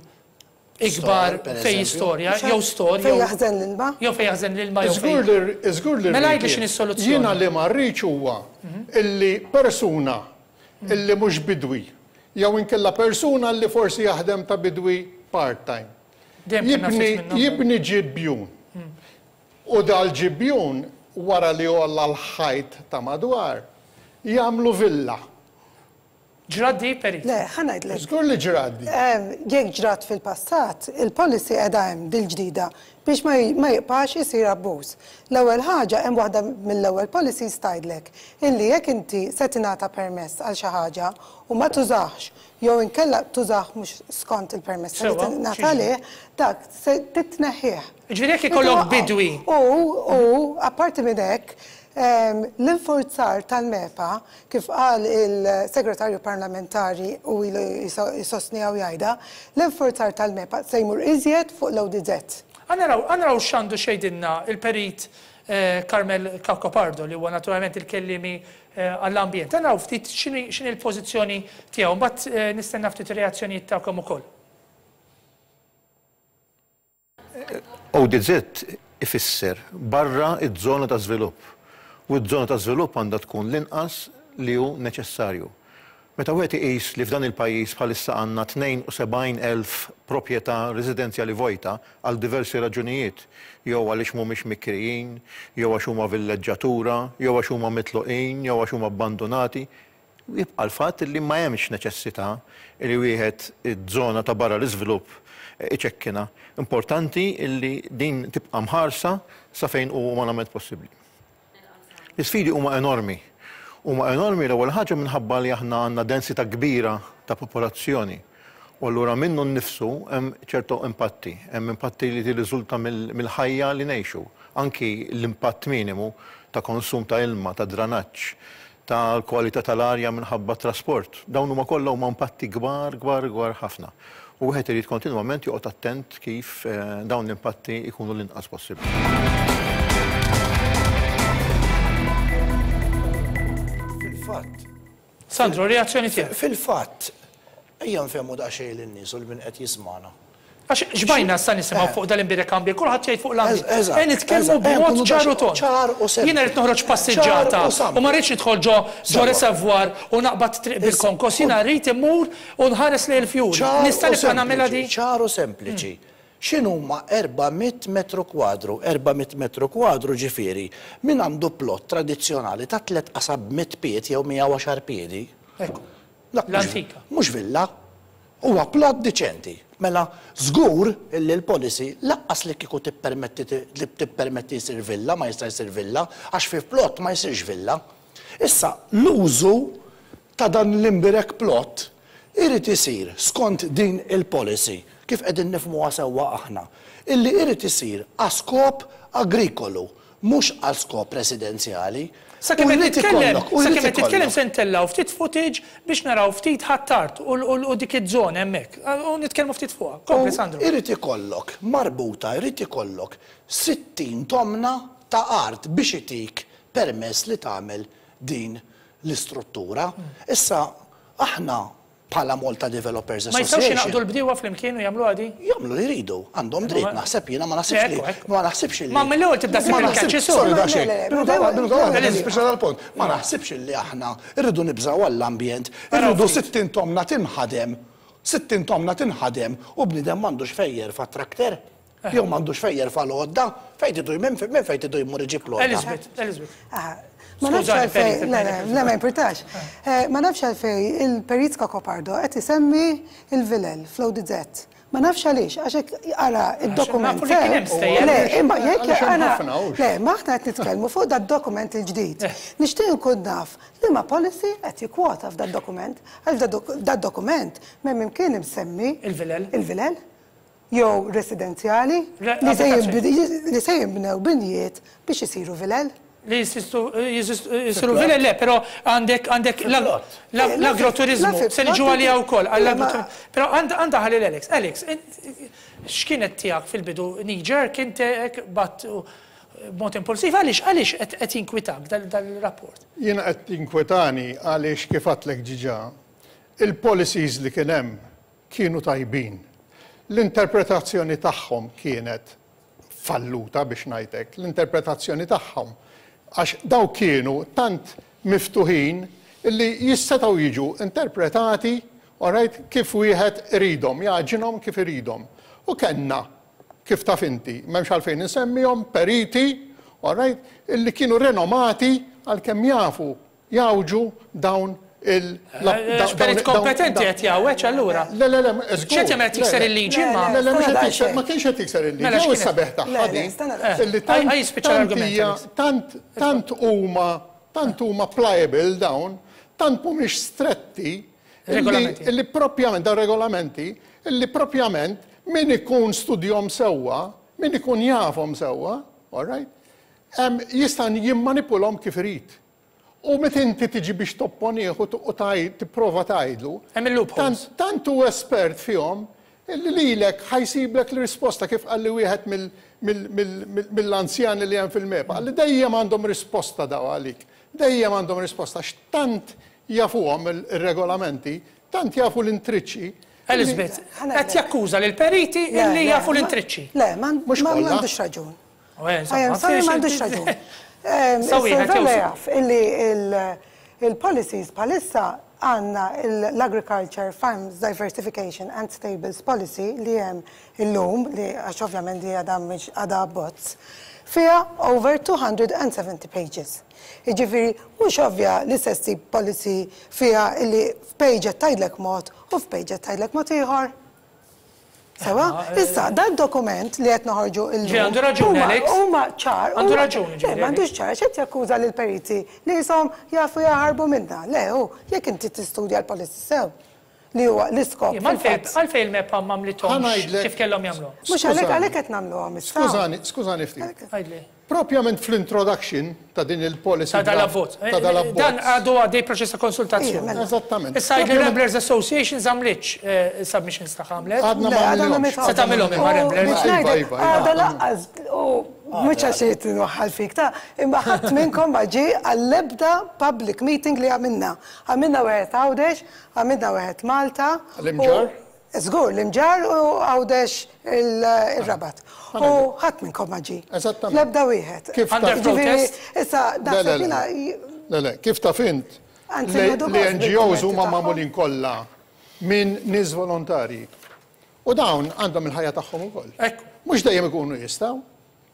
ikbar Store, per fej eżempju. storja, jew store, Fejn jew jaħżen l-ilma? jew fej jaħżen l-ilma jew Żgur fej. li żgur li Mela rrid għidli x'inhi jien. s-soluzzjoni. Jiena li ma rridx huwa illi persuna illi mhux bidwi jew inkella persuna li forsi jaħdem ta' bidwi part-time. Dejjem kellna Jibni, ftit minnhom. jibni ġibjun. U dal-ġibjun wara li għolla l-ħajt ta' madwar, jagħmlu villa. Ġrat di, Perit? Le, ħa ngħidlek. Żgur li ġrat di. Em, Jekk ġrat fil-passat, il-policy qiegħda hemm dil-ġdida biex ma ma jibqax isir abbuż. L-ewwel ħaġa, hemm waħda mill-ewwel policies tgħidlek illi jekk inti se tingħata permess għal xi ħaġa u ma tużax jew inkella tużax mhux skont il-permess li Sewa, tingħata x'jiġri? għalih, dak se titneħħih. Ġifieri jekk ikollok bidwi. U, u, apparti minn hekk, em, l-infurzar tal-MEPA, kif qal il-segretarju parlamentari u ilu jisostni u jgħidha, l-infurzar tal-MEPA se jmur iżjed fuq l-O D Z. Ħa naraw, ħa naraw x'għandu x'jgħidilna il-perit eh, Carmel Cacopardo, li huwa naturalment il-kellimi eh, għall-ambjent. Ħa naraw ftit x'inhi x'inhi l-pożizzjoni tiegħu, mbagħad eh, nistenna ftit ir-reazzjonijiet tagħkom ukoll. O D Z ifisser barra iż-żona ta' żvilupp. U ż-żona ta' żvilupp għandha tkun l-inqas li hu neċessarju. Meta wieħed iqis li f'dan il-pajjiż bħalissa għandna tnejn u sebgħin elf proprjetà residenzjali vojta għal diversi raġunijiet, jew għaliex mhumiex mikrijin, jew għax huma villeġġatura, jew għax huma mitluqin, jew għax huma abbandonati, jibqa' l-fatt li ma hemmx neċessità li wieħed iż-żona ta' barra l-iżvilupp iċekkinha. Importanti li din tibqa' mħarsa sa fejn hu umanament possibbli. L-isfidi huma enormi. Huma enormi l-ewwel ħaġa minħabba li aħna għandna densità kbira ta' popolazzjoni. U allura minnu nnifsu hemm ċertu impatti, hemm impatti li tirriżulta mill-ħajja li ngħixu. Anki l-impatt minimu ta' konsum ta' ilma, ta' dranaġġ, tal-kwalità tal-arja minħabba trasport. Dawn huma kollha huma impatti kbar, kbar, kbar ħafna. U wieħed irid kontinwament joqgħod attent kif dawn l-impatti jkunu l-inqas possibbli. Fil-fatt. Sandro, reazzjoni tiegħek. Fil-fatt, ejja nfehmu daqsxejn lin-nies u lil min qed jismagħna. Għax xbajna sa nisimgħu fuq dal-imbirek ambjent, kulħadd jgħid fuq l-ambjent. E nitkellmu b'mod ċar u tond. Jiena rrid noħroġ passiġġata u ma rridx nidħol ġo ġo reservoir u naqbad triq bil-konkos, jiena rrid immur u nħares lejn il-fjuri. Nista' nibqa' nagħmilha di? Ċar u sempliċi. X'inhuma erba' mitt metru kwadru? erba' mitt metru kwadru ġifieri min għandu plott tradizzjonali ta' tliet qasab mitt pied jew mija u għaxar piedi. L-antika. Mhux villa. Huwa plott diċenti. Mela, żgur illi l-policy laqqas li kieku tippermetti li tippermetti jsir villa, ma jista' jsir villa, għax fi plott ma jsirx villa. Issa, l-użu ta' dan l-imbirek plott irid isir skont din il-policy, kif qegħdin nifhmuha sewwa aħna, illi irid isir għal skop agrikolu, mhux għal skop residenzjali. Sakemm qed titkellem, sakemm qed titkellem se ntellgħu ftit footage biex naraw ftit Ħ'Attard u dik iż-żona hemmhekk. U nitkellmu ftit fuqha. Kompli Sandro. Irid ikollok marbuta, irid ikollok sittin tomna ta' art biex itik permess li tagħmel din l-istruttura. Issa aħna bħala Malta Developers Ma jistgħux Association. jingħaqdu l-bdiewa flimkien u jagħmluha di? Jagħmlu li jridu, għandhom dritt, naħseb jiena ma naħsibx li ma naħsibx li Ma mill-ewwel tibda ssib il-kaċċi su. Sorry daqsxejn. Minuta waħda, minuta waħda, nispiċċa dal-punt. Ma naħsibx li aħna rridu nibżgħu għall-ambjent, irridu sittin tomna tinħadem, sittin tomna tinħadem u bniedem m'għandux fejn jerfa' trakter. Jew m'għandux fejn jerfa' l-għodda, fejn tidu minn fejn tidu jmur iġib l-għodda. Elizabeth, Elizabeth. Ma nafx għalfej, le, le, le, ma importax. Ma nafx għalfej il-Perit Cacopardo qed isemmi il-Vilel fl-O D Z. Ma nafx għaliex, għax hekk ara id-dokument. Nafu li kien hemm stejjer. Le, imma jekk Għaliex hemm ara, ħafna, hux. le, ma aħna qed nitkellmu fuq dad-dokument il-ġdid. Nixtieq nkun naf li ma policy qed jikkwota f'dad-dokument, għax dad-dokument m'hemm imkien imsemmi Il-Vilel. Il-Vilel jew residenzjali Re- li se abitazzjoni. jinbid- li se jinbnew binjiet biex isiru vilel. Li jisistu jisiru vilel, le, però għandek għandek l-agroturizmu, se niġu għalija wkoll, għall-agroturizmu. Però għandha ħalli l-Alex. Alex, x'kienet tiegħek fil-bidu knee-jerk, inti hekk bat b'mod impulsiv, għaliex għaliex qed jinkwitak dal-rapport? Jiena qed jinkwetani għaliex kif għedtlek diġà, il-policies li kien hemm kienu tajbin. L-interpretazzjoni tagħhom kienet falluta biex ngħidlek, l-interpretazzjoni tagħhom għax daw kienu tant miftuħin illi jistgħu jiġu interpretati alright, kif wieħed iridhom, jagħġinhom kif iridhom. U kellna, kif taf inti, m'hemmx għalfejn insemmihom, periti, alright, illi kienu renomati għal kemm jafu jawġu dawn il- Perit kompetenti qed jgħawweġ allura. Le, le, le, żgur. X'qed jagħmel tikser il-liġi ma? Le, le, mhux qed tikser, ma kienx qed tikser il-liġi. Mela Jew x'kienet? is-sabeħ tagħha Le, le, din. stanna daqsxejn. Illi tant- Ħaj jispiċċa tant l-argument, hija- Alex. Tant tant huma tant huma pliable dawn, tant mhumiex stretti illi Regolamenti. illi propjament dawn regolamenti, illi propjament min ikun studjom sewwa, min ikun jafhom sewwa, all right, em, jista' jimmanipulhom kif irid. U meta inti tiġi biex topponih u t- u taj- tipprova tgħidlu, Hemm il-loopholes. tant tant hu espert fihom illi lilek ħa jsiblek l-risposta kif qalli wieħed mill- mill- mill- mill- mill-anzjani li hemm fil-MEPA, li dejjem għandhom risposta daw għalik. Dejjem għandhom risposta x'tant jafuhom il-regolamenti, tant jafu l-intriċċi. Elizabeth, Ħana qed jakkuża lil periti Le, illi le, jafu ma- l-intriċċi. Le, ma Mhux ma kollha. m'għandux raġun. U, eh, insomma, I am sorry, fiex- m'għandux raġun. Ehm, Sawi, Is-Sur ħed jew Vella su- jaf illi il- il-policies bħalissa għandna l-Agriculture Farms Diversification and Stables Policy li hemm illum, li għax ovvjament li għadha mhix għadha abbozz, fiha over two hundred and seventy pages. Jiġifieri, mhux ovvja li se ssib policy fiha illi f'page qed tgħidlek mod u f'page qed tgħidlek mod ieħor. Sewa, issa, dan dokument li qed noħorġu illum. Ġi, għandu raġun, huma- Alex. Huma ċar. Għandu huma- raġun, Le, ġifieri, m'għandux ċar, x'qed jakkuża lil periti li jisom jafu jaħarbu minna. Le, hu, jekk inti tistudja l-policy sew, li huwa l-iskop. Ma għalfejn fil-fatt. għalfejn il-MEPA m'għamlithomx Ħa ngħidlek- kif kellhom jagħmlu. Mhux għalhekk għalhekk qed nagħmluhom issa. Skużani, skużani ftit. Għidli. Propjament fl-introduction ta' din il-policy. Ta' dal-abbozz. Ta' dal-abbozz. Dan għadu għaddej proċess ta' konsultazzjoni. Eżattament. Issa il-Ramblers Association għamlitx submissions ta' għamlet. Għadna ma għamlithomx. Se tagħmilhom imma Ramblers. Għada laqqas, u mhux għax qed inwaħħal fik ta' imma ħadd minnkom ma ġie għall-ebda public meeting li għamilna. Għamilna wieħed Għawdex, għamilna wieħed Malta. L-Imġarr? Żgur, l-Imġarr u Għawdex il-Rabat. U ħadd minnkom ma ġie. Eżattament. L-ebda wieħed. Kif Under protest? Issa, naħseb jiena. Le, le, kif taf int? L-N G Os huma magħmulin kollha minn nies volontarji. U dawn għandhom il-ħajja tagħhom ukoll. Mhux dejjem ikunu jistgħu.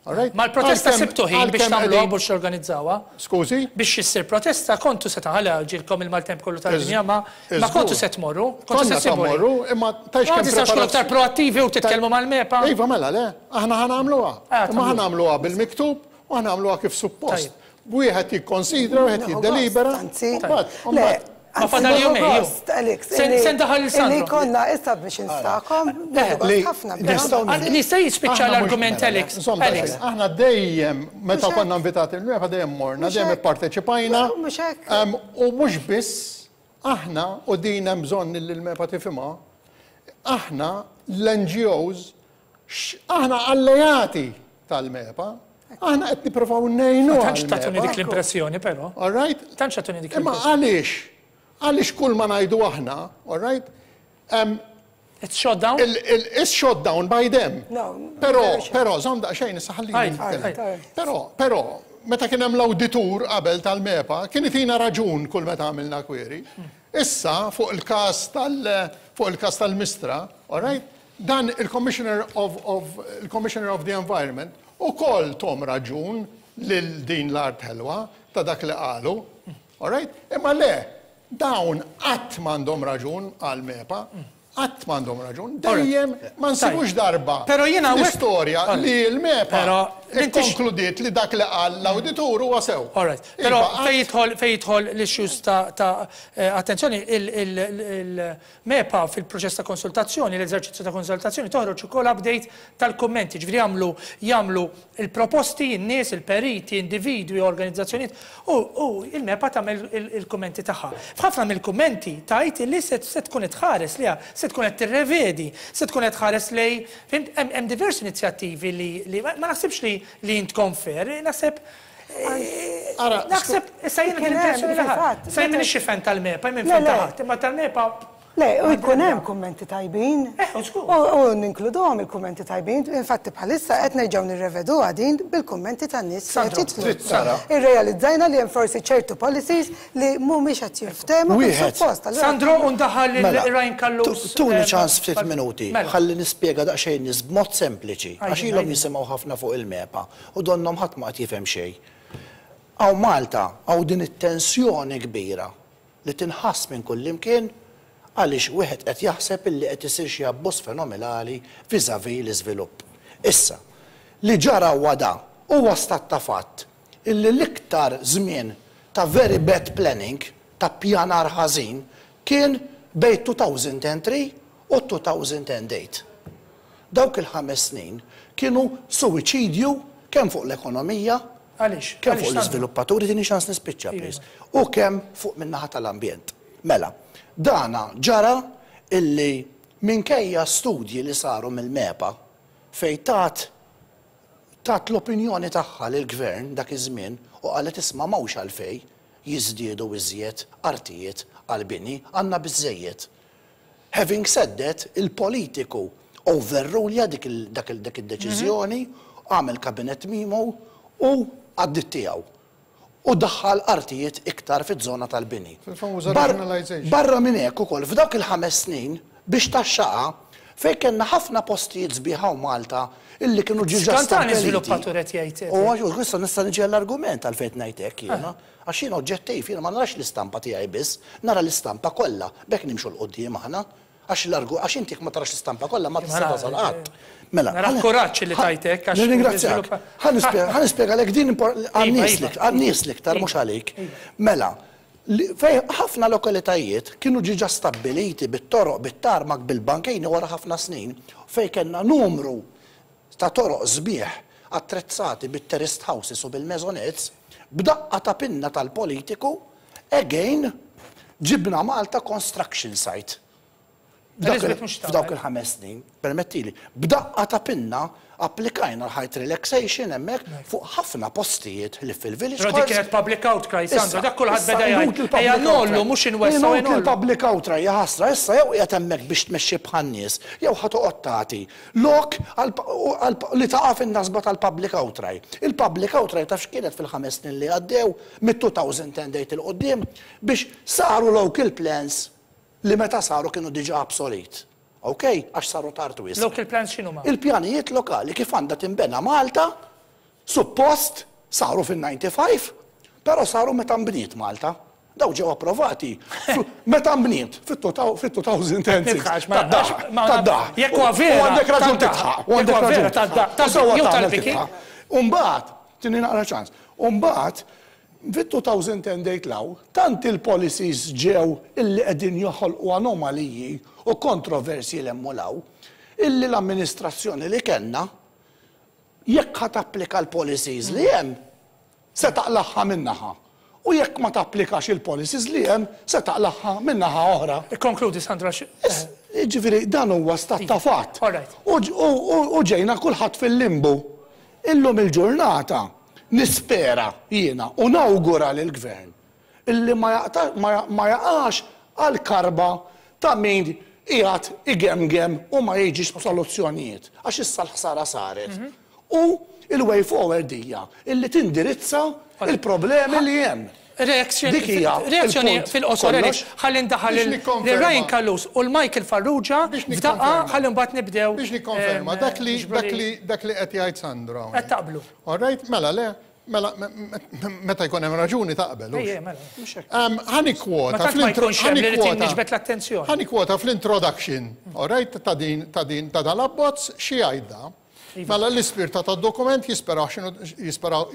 Ma l-protesta sibtu ħin biex tagħmluha biex organizzawha. Skużi? Biex issir protesta kontu se taħala ġilkom il-maltemp kollu tal-dinja ma ma kontu se tmorru, kontu se tmorru, imma tajx kemm preparazzjoni. Aktar proattivi u titkellmu mal-MEPA. Iva mela le, aħna ħa nagħmluha. Imma ħa nagħmluha bil-miktub u ħa nagħmluha kif suppost. Wieħed jikkonsidra, wieħed jiddelibera. Ma fadal jumej. Sen daħal il-Sandro. Li konna is-submissions tagħkom. Ħafna. Nista' jispiċċa l-argument Alex. Aħna dejjem meta konna invitati l-MEPA dejjem morna, dejjem ipparteċipajna. U mhux biss aħna u din hemm bżonn li l-MEPA tifhimha, aħna l-N G Os aħna alleati tal-MEPA. Aħna qed nippruvaw ngħinu. Tantx tagħtuni dik l-impressjoni però. All right? Tantx tagħtuni dik l-impressjoni. Imma għaliex? Għaliex kull ma ngħidu aħna, all right? It's shot down? It's shot down by them. Però, però, żomm daqsxejn issa ħallini nitkellem. Però, però, meta kien hemm l-awditur qabel tal-MEPA, kien itina raġun kull meta għamilna query. Issa fuq il-każ tal fuq il-każ tal-Mistra, all right? Dan il-Commissioner of, of, il-Commissioner of the Environment ukoll tom raġun lil din l-art ħelwa ta' dak li qalu, all right? Imma le, dawn qatt m'għandhom raġun għal MEPA, qatt m'għandhom raġun, dejjem ma nsibux darba l-istorja li l-MEPA ikkonkludiet li dak li qal l-awditur huwa sew. All right. Però fejn jidħol l-issues ta' attenzjoni, il-MEPA fil-proċess ta' konsultazzjoni, l-eżerċizzju ta' konsultazzjoni toħroġ ukoll update tal-kummenti, ġifieri jagħmlu jagħmlu il-proposti, in-nies, il-periti, individwi, organizzazzjonijiet u il-MEPA tagħmel il-kummenti tagħha. F'ħafna mill-kummenti tgħid li se tkun qed tħares liha, se tkun qed tirrevedi, se tkun qed tħares lej, fhimt, hemm diversi inizjattivi li ma naħsibx li li jintkom fair, naħseb naħseb issa jiena l-impressjoni li ħadd. Issa jien m'iniex fan tal-MEPA, jien fan ta' ħadd, imma tal-MEPA. Le, u jkun hemm kummenti tajbin. U ninkluduhom il-kummenti tajbin, infatti bħalissa qed nerġgħu nirreveduha din bil-kummenti tan-nies li qed jidħlu. Irrealizzajna li hemm forsi ċertu policies li mhumiex qed jinftehmu kif suppost. Sandro, u ndaħal Ryan Callus. Tuni ċans ftit minuti, ħalli nispjega daqsxejn nies b'mod sempliċi, għax ilhom jisimgħu ħafna fuq il-MEPA u donnhom ħadd ma qed jifhem xejn. Hawn Malta hawn din it-tensjoni kbira li tinħass minn kullimkien għaliex wieħed qed jaħseb illi qed isir xi abbuż fenomenali vis-à-vis l-iżvilupp. Issa, li ġara huwa da, huwa stat ta' fatt illi l-iktar żmien ta' very bad planning, ta' pjanar ħażin, kien bejn two thousand and three u two thousand and eight. Dawk il-ħames snin kienu suwiċidju kemm fuq l-ekonomija, kemm fuq l-iżviluppaturi, tini ċans nispiċċa, please, u kemm fuq min-naħa tal-ambjent. Mela, dana ġara illi minkejja studji li saru mill-MEPA fej tat tat l-opinjoni tagħha lill-gvern dak iż-żmien u qalet isma' m'hawnx għalfej jiżdiedu iżjed artijiet għall-bini, għandna biżżejjed. Having said that, il-politiku overrulja dik id-deċiżjoni, għamel kabinet mimo u għaddit tiegħu. U daħħal artijiet iktar fiż-żona tal-bini. Barra minn hekk ukoll f'dawk il-ħames snin biex taxxaqa fejn kellna ħafna postijiet sbieħa u Malta illi kienu ġiġa stabbiliti. Żviluppatur qed jgħid. U għax issa nista' niġi għall-argument għalfejn ngħid hekk jiena. Għax jiena oġġettiv, jiena ma narax l-istampa tiegħi biss, nara l-istampa kollha, b'hekk nimxu 'l quddiem aħna. Għax l-argu, għax inti ma tarax l-istampa kollha ma tista' tasal qatt. Mela. Nara kuraġġ li tajtek għax. Nirringrazzjak. Ħa nispjegalek din għan-nies l-iktar mhux għalik. Mela, fejn ħafna lokalitajiet kienu ġiġa stabbiliti bit-toroq, bit-tarmak, bil-bankejni wara ħafna snin, fejn kellna numru ta' toroq sbieħ attrezzati bit-terraced houses u bil-maisonettes, b'daqqa ta' pinna tal-politiku, again, ġibna Malta construction site. F'dawk il-ħames snin, permettili, b'daqqa ta' pinna applikajna l-height relaxation hemmhekk fuq ħafna postijiet li fil-village. Però dik kienet public outcry, Sandro, dak kulħadd beda jgħid. Ejja ngħollu mhux inwessgħu. Il-public outcry hija ħasra, issa jew qiegħed hemmhekk biex tmexxi bħan-nies, jew ħa toqgħod tagħti lok li taqa' fin-nasba tal-public outcry. Il-public outcry taf x'kienet fil-ħames snin li għaddew mit-two thousand and eight 'il quddiem biex saru local plans li meta saru kienu diġà obsolete. Ok, għax saru tard wisq. Local plans x'inhu ma? Il-pjanijiet lokali kif għandha tinbena Malta, suppost saru fil-ħamsa u disgħin, però saru meta nbniet Malta. Daw ġew approvati meta nbniet fit-elfejn u sitta. Tad-daħ. Jekk huwa vera. U għandek raġun tidħaq. U għandek raġun tidħaq. Umbagħad, tini naqra ċans, umbagħad, fit-elfejn u tmienja law, tant il-policies ġew illi qegħdin joħolqu anomaliji u kontroversi l-emmulaw, illi l-amministrazzjoni li kellna, jekk ħa tapplika l-policies li hemm, se taqlagħha min-naħa. U jekk ma tapplikax il-policies li hemm, se taqlagħha min-naħa oħra. Konkludi, Sandra. Ġifieri, dan huwa stat ta' fatt. U ġejna kulħadd fil-limbu. Illum il-ġurnata nispera jiena u nawgura lill-gvern illi ma jaqax għal karba ta' min qiegħed igemgem u ma jiġix b'soluzzjonijiet. Għax issa l-ħsara saret. U il-way forward hija illi tindirizza il-problemi li hemm. Reazzjoni fil-qosor, ħalli ndaħal lil Ryan Callus u l-Michael Farrugia f'daqqa, ħalli mbagħad nibdew. Biex nikkonferma dak li dak li qed jgħid Sandro. Qed taqblu. All right, mela le, mela meta jkun hemm raġuni taqbel. Mela. Ħa nikkwota fl-attenzjoni. Ħa nikkwota fl-introduction, all right, ta' din ta' din ta' dal-abbozz xi jgħidha. Mela l-ispirta ta' dokument jisperaw x'inhu jisperaw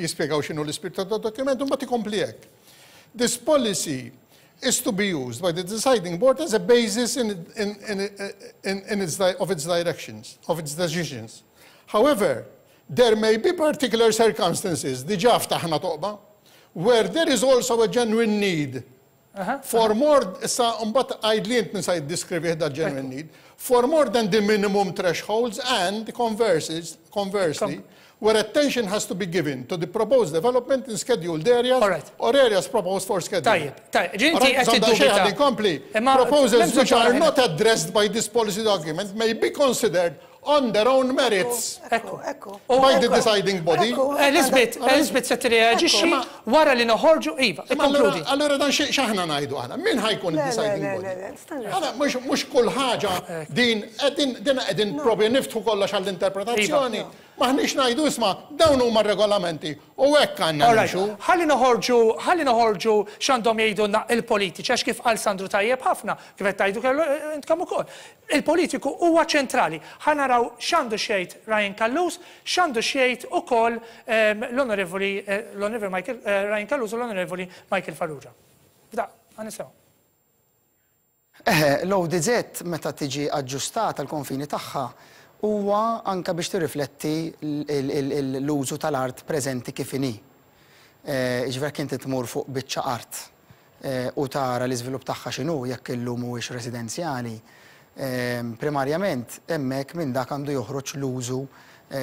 jispjegaw x'inhu l-ispirta ta' dokument u mbagħad ikompli hekk. "This policy is to be used by the deciding board as a basis in, in, in, in, in its, of its directions, of its decisions. However, there may be particular circumstances," diġà ftaħna toqba, "where there is also a genuine need for more," issa mbagħad għidli int min sa jiddeskrivi da genuine need, "for more than the minimum thresholds and conversely, conversely, where attention has to be given to the proposed development in scheduled areas or areas proposed for scheduling." Tajjeb, tajjeb, ġinti qed tiddubita. Kompli, "Proposals which are not addressed by this policy document may be considered on their own merits by the deciding body." Elizabeth, Elizabeth se tirreaġixxi wara li noħorġu, iva, ikkonkludi. Allora dan x'aħna ngħidu aħna? Min ħa jkun deciding body? Aħna mhux kull ħaġa din din qegħdin propju niftħu kollox għall-interpretazzjoni. Maħniex ngħidu, isma', dawn huma regolamenti u hekk għandna nimxu. Ħalli noħorġu, ħalli noħorġu x'għandhom jgħidulna il-politiċi, għax kif qal Sandru tajjeb ħafna, kif qed tgħidu kellu intkom ukoll. Il-politiku huwa ċentrali. Ħa naraw x'għandu xejn Ryan Callus, x'għandu xejn ukoll l-Onorevoli l-Onorevoli Michael Ryan Callus u l-Onorevoli Michael Farrugia. Bda, ħa nisimgħu. Eħe, l-O D Z meta tiġi aġġustata l-konfini tagħha huwa anka biex tirrifletti l-użu tal-art preżenti kif inhi. Ġifieri inti tmur fuq biċċa art u tara l-iżvilupp tagħha x'inhu, jekk illum mhuwiex residenzjali. Primarjament hemmhekk minn dak għandu joħroġ l-użu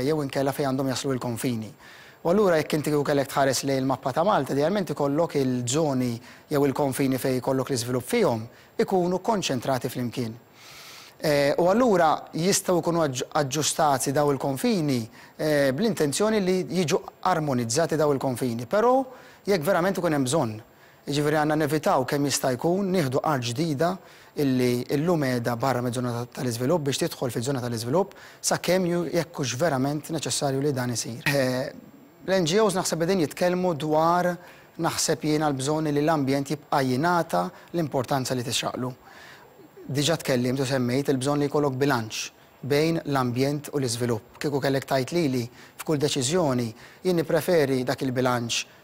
jew inkella fejn għandhom jaslu l-konfini. U allura jekk inti kellek tħares lejn il-mappa ta' Malta, idealment ikollok il-żoni jew il-konfini fejn ikollok l-iżvilupp fihom ikunu konċentrati flimkien. U allura jistgħu jkunu aġġustati daw il-konfini bl-intenzjoni li jiġu armonizzati daw il-konfini, però jekk verament ikun hemm bżonn. Jiġifieri għandna nevitaw kemm jista' jkun nieħdu art ġdida illi illum qiegħda barra miż-żona tal-iżvilupp biex tidħol fiż-żona tal-iżvilupp sakemm jekk hux verament neċessarju li dan isir. L-N G Os naħseb qegħdin jitkellmu dwar, naħseb jiena, l-bżonn li l-ambjent jibqa' jingħata l-importanza li tixraqlu. Diġà tkellimt u semmejt il-bżonn li jkollok bilanċ bejn l-ambjent u l-iżvilupp. Kieku kellek tgħid lili f'kull deċiżjoni, jien nippreferi dak il-bilanċ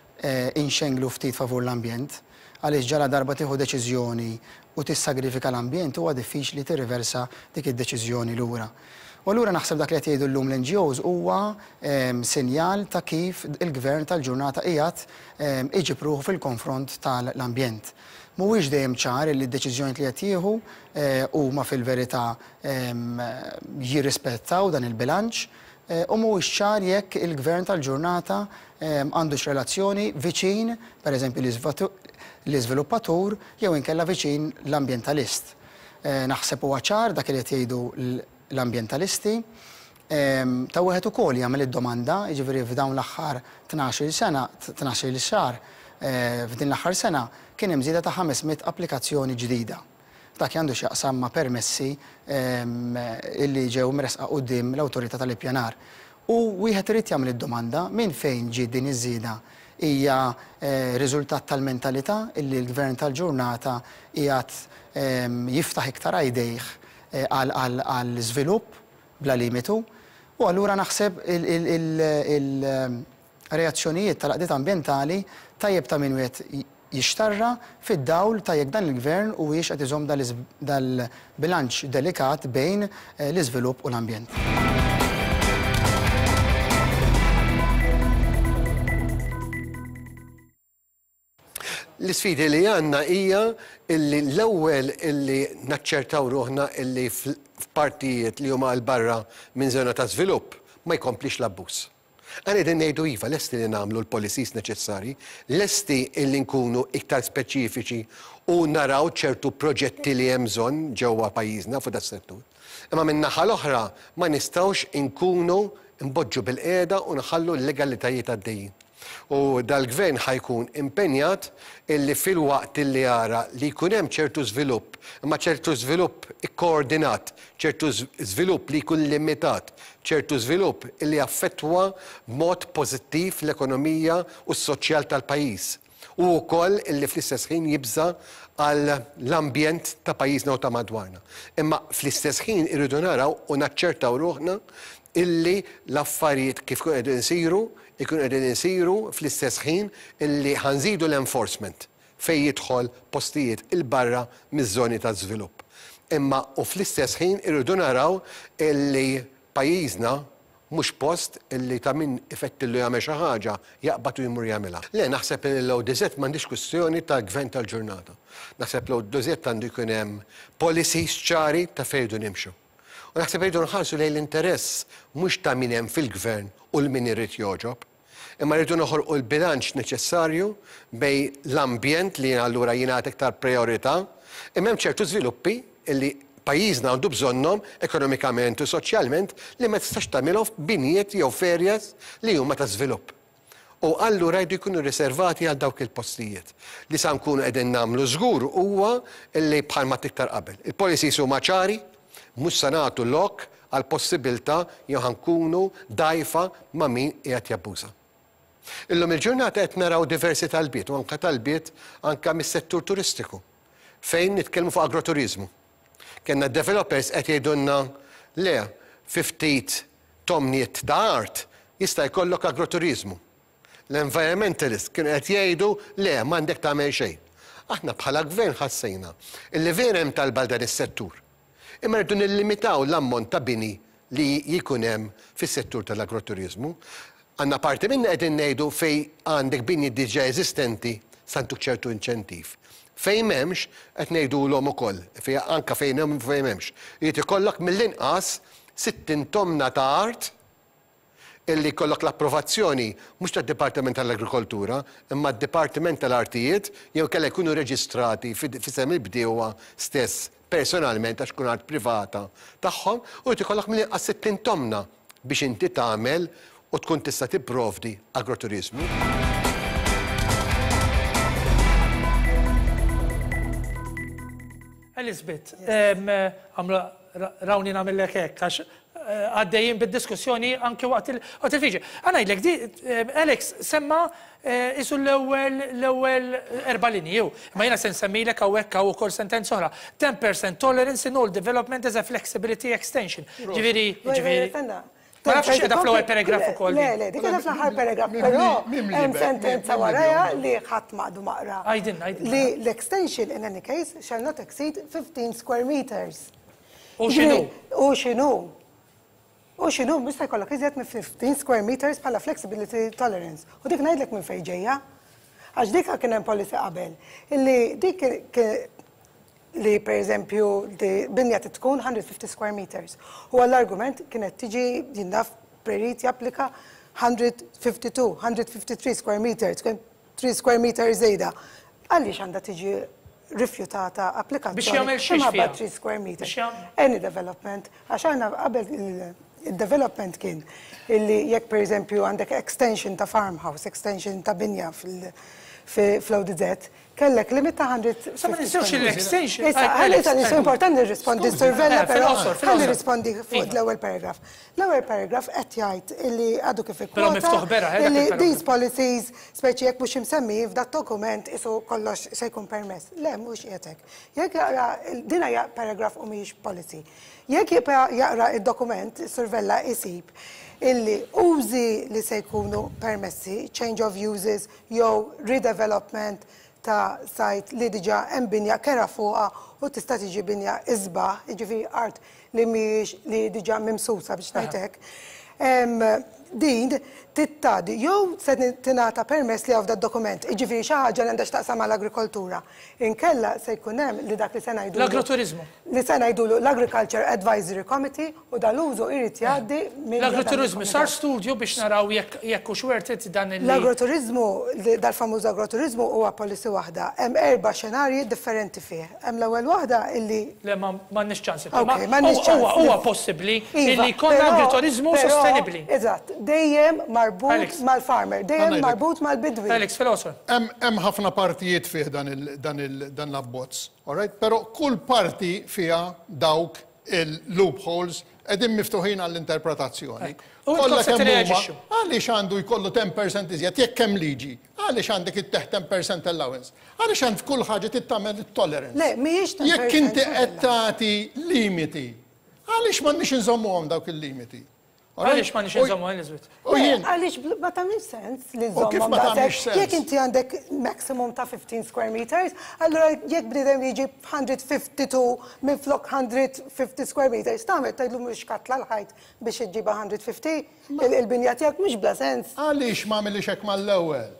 inxenglu ftit favur l-ambjent, għaliex ġala darba tieħu deċiżjoni u tissagrifika l-ambjent huwa diffiċli tirriversa dik id-deċiżjoni lura. U allura naħseb dak li qed jgħidu llum l-N G Os huwa sinjal ta' kif il-gvern tal-ġurnata qiegħed iġib ruħu fil-konfront tal-ambjent. Mhuwiex dejjem ċar li d-deċiżjoni li qed jieħu huma fil-verità jirrispettaw dan il-bilanċ u mhuwiex ċar jekk il-gvern tal-ġurnata għandux relazzjoni viċin, pereżempju, l-iżviluppatur jew inkella viċin l-ambjentalist. Naħseb huwa ċar dak li qed jgħidu l-ambjentalisti. Ta' wieħed ukoll jagħmel id-domanda, jiġifieri f'dawn l-aħħar tnax-il sena, tnax-il xahar, f'din l-aħħar sena kien hemm żieda ta' ħames mitt applikazzjoni ġdida. Dak għandu x'jaqsam ma' permessi illi ġew mresqa quddiem l-awtorità tal-ippjanar. U wieħed irid jagħmel id-domanda minn fejn ġiet din iż-żieda. Hija riżultat tal-mentalità illi l-gvern tal-ġurnata qiegħed jiftaħ iktar għajdejh għal żvilupp bla limitu? U allura naħseb il-reazzjonijiet tal-għaqdiet ambjentali tajjeb ta' min wieħed jixtarra fid-dawl ta' jekk dan il-gvern huwiex qed iżomm dal-bilanċ delikat bejn l-iżvilupp u l-ambjent. L-isfidi li għandna hija illi l-ewwel illi naċċertaw ruħna illi f'partijiet li huma 'l barra minn żona ta' żvilupp ma jkomplix l-abbuż. Aħna qegħdin ngħidu iva, lesti li nagħmlu l-policies neċessari, lesti illi nkunu iktar speċifiċi u naraw ċertu proġetti li hemm bżonn ġewwa pajjiżna fuq das-settur. Imma minn naħa l-oħra ma nistgħux inkunu npoġġu bilqiegħda u nħallu l-illegalitajiet għaddejjin. U dal-gvern ħa jkun impenjat illi fil-waqt illi jara li jkun hemm ċertu żvilupp, imma ċertu żvilupp ikkoordinat, ċertu żvilupp li jkun limitat, ċertu żvilupp illi affettwa b'mod pożittiv l-ekonomija u s-soċjal tal-pajjiż. U wkoll illi fl-istess ħin jibża għal l-ambjent ta' pajjiżna u ta' madwarna. Imma fl-istess ħin irridu naraw u naċċertaw ruħna illi l-affarijiet kif kun qegħdin isiru, ikun qegħdin isiru fl-istess ħin illi ħa nżidu l-enforcement fejn jidħol postijiet 'il barra miż-żoni ta' żvilupp. Imma u fl-istess ħin irridu naraw illi pajjiżna mhux post illi ta' min ifettillu jagħmel xi ħaġa jaqbad u jmur jagħmilha. Le, naħseb li l-O D Z m'għandix kwistjoni ta' gvern tal-ġurnata. Naħseb l-O D Z għandu jkun hemm policies ċari ta' fejn irridu nimxu. U naħseb rridu nħarsu lejn l-interess mhux ta' min hemm fil-gvern u 'l min irid jogħġob. Imma rridu noħolqu l-bilanċ neċessarju bejn l-ambjent li allura jingħata iktar priorità, imma hemm ċertu żviluppi illi pajjiżna għandu bżonnhom ekonomikament u soċjalment li ma tistax tagħmilhom f'binjiet jew f'areas li huma ta' żvilupp. U allura jridu jkunu riservati għal dawk il-postijiet. Li sa nkunu qegħdin nagħmlu żgur huwa illi bħalma iktar qabel. Il-policies huma ċari, mhux sa nagħtu lok għal possibilità jew ħa nkunu dgħajfa ma' min qiegħed jabbuża. Illum il-ġurnata qed naraw diversi talbiet u anka talbiet anka mis-settur turistiku fejn nitkellmu fuq agroturizmu. Kellna developers qed jgħidulna le, fi ftit tomniet ta' art jista' jkollok agroturizmu. L-environmentalist kienu qed jgħidu le, m'għandek tagħmel xejn. Aħna bħala gvern ħassejna illi vera hemm talba dan is-settur. Imma rridu nillimitaw l-ammont ta' bini li jkun hemm fis-settur tal-agroturizmu. Għandna parti minna qegħdin ngħidu fejn għandek bini diġà eżistenti sa ntuk ċertu inċentiv. Fejn m'hemmx qed ngħidulhom ukoll, fej anka fejn hemm fejn m'hemmx. Jrid ikollok mill-inqas sittin tomna ta' art illi jkollok l-approvazzjoni mhux tad-Dipartiment tal-Agrikoltura, imma d-Dipartiment tal-Artijiet jew kellha jkunu reġistrati f'isem il-bdiewa stess personalment għax tkun art privata tagħhom u jrid ikollok mill-inqas sittin tomna biex inti tagħmel u tkun tista' tipprovdi agroturizmu. Elizabeth, għamlu rawni nagħmillek hekk għax eh, għaddejjin bid-diskussjoni anke waqt il-fiġi. Ħa ngħidlek, di Alex semma eh, isu l-ewwel l-ewwel erba' linji jew. Ma jiena se nsemmilek hawnhekk hawn ukoll sentenza oħra. ten percent tolerance in all development as a flexibility extension. Ġifieri, ġifieri. Ma nafx qiegħda fl-ewwel paragraf ukoll. Le, le, dik qiegħda fl-aħħar paragraf, però hemm sentenza warajha li ħadd m'għadu ma qra. Għidilna, għidilna. Li l-extension in any case shall not exceed fifteen square meters. U x'inhu? U x'inhu? U x'inhu mista jkollok iżjed minn fifteen square meters bħala flexibility tolerance. U dik ngħidlek minn fejn ġejja. Għax dik kien hemm policy qabel. Illi dik li per eżempju binja tkun one hundred fifty square meters. U għall-argument kienet tiġi jinnaf perit japplika one hundred fifty-two, one hundred fifty-three square meters, three square meters żejda. Għaliex għandha tiġi rifjutata applikazzjoni? Biex jagħmel xiex fiha? three square meters. Any development, għax aħna qabel il-development kien illi jekk per eżempju għandek extension ta' farmhouse, extension ta' binja fl-O D Z, kellek limit ta' one hundred fifty. Sa ma ninsewx l-extension. Issa, ħalli ta' nisu importanti nirrispondi Sur Vella, però ħalli nirrispondi fuq l-ewwel paragraf. L-ewwel paragraf qed jgħid illi għadu kif ikkwota illi these policies, speċi jekk mhux imsemmi f'dat dokument isu kollox se jkun permess. Le, mhux qiegħed hekk. Jekk jaqra din hija paragraf u mhijiex policy. Jekk jaqra id-dokument, Sur Vella isib illi użi li se jkunu permessi, change of uses jew redevelopment ta' site li diġa hemm binja kera fuqha u tista' tiġi binja isbaħ, jiġifieri art li mhijiex li diġa mimsusa biex ngħid hekk. Din tittadi jew se tingħata permess li hawn dokument, jiġifieri xi ħaġa li għandha x'taqsam mal-agrikoltura. Inkella se jkun hemm li dak li se ngħidulu L-agroturiżmu. Li se ngħidulu l-Agriculture Advisory Committee u dal-użu irid jgħaddi minn L-agroturiżmu sar studju biex naraw jekk hux worth it dan il- L-agroturiżmu, dal-famuż agroturiżmu huwa policy waħda. Hemm erba' xenarji differenti fih. Hemm l-ewwel waħda illi Le, m'għandniex ċans. Ok, m'għandniex ċans. Huwa possibbli illi jkollna agroturiżmu sostenibbli. Eżatt, dejjem marbut mal-farmer, dejjem marbut mal-bidwi. Alex, fil-qosor. Hemm ħafna partijiet fih dan l-abbozz, all right? Però kull parti fiha dawk il-loopholes qegħdin miftuħin għall-interpretazzjoni. U Kollha intom se kemm huma, tirreaġixxu? għaliex għandu jkollu ten percent iżjed jekk hemm liġi? Għaliex għandek itteħ ten percent allowance? Għaliex għand f'kull ħaġa tittamel it-tolerance? Le, mhijiex ten Jekk inti percent qed tagħti limiti, għaliex m'għandniex inżommuhom dawk il-limiti? Għaliex m'għandniex inżommu, Elizabeth? U jien. Għaliex bl-, ma tagħmilx sens li U kif żommhom ma tagħmilx daqshekk? sens? Jekk inti għandek maximum ta' fifteen square meters, allura jekk bniedem jiġi hundred fifty-two minn flok hundred fifty square meters, tagħmel tgħidlu mhux katla l-ħajt biex iġġibha hundred fifty, il-, il-binja tiegħek mhux bla sens. Għaliex ma għamilix hekk mal-ewwel?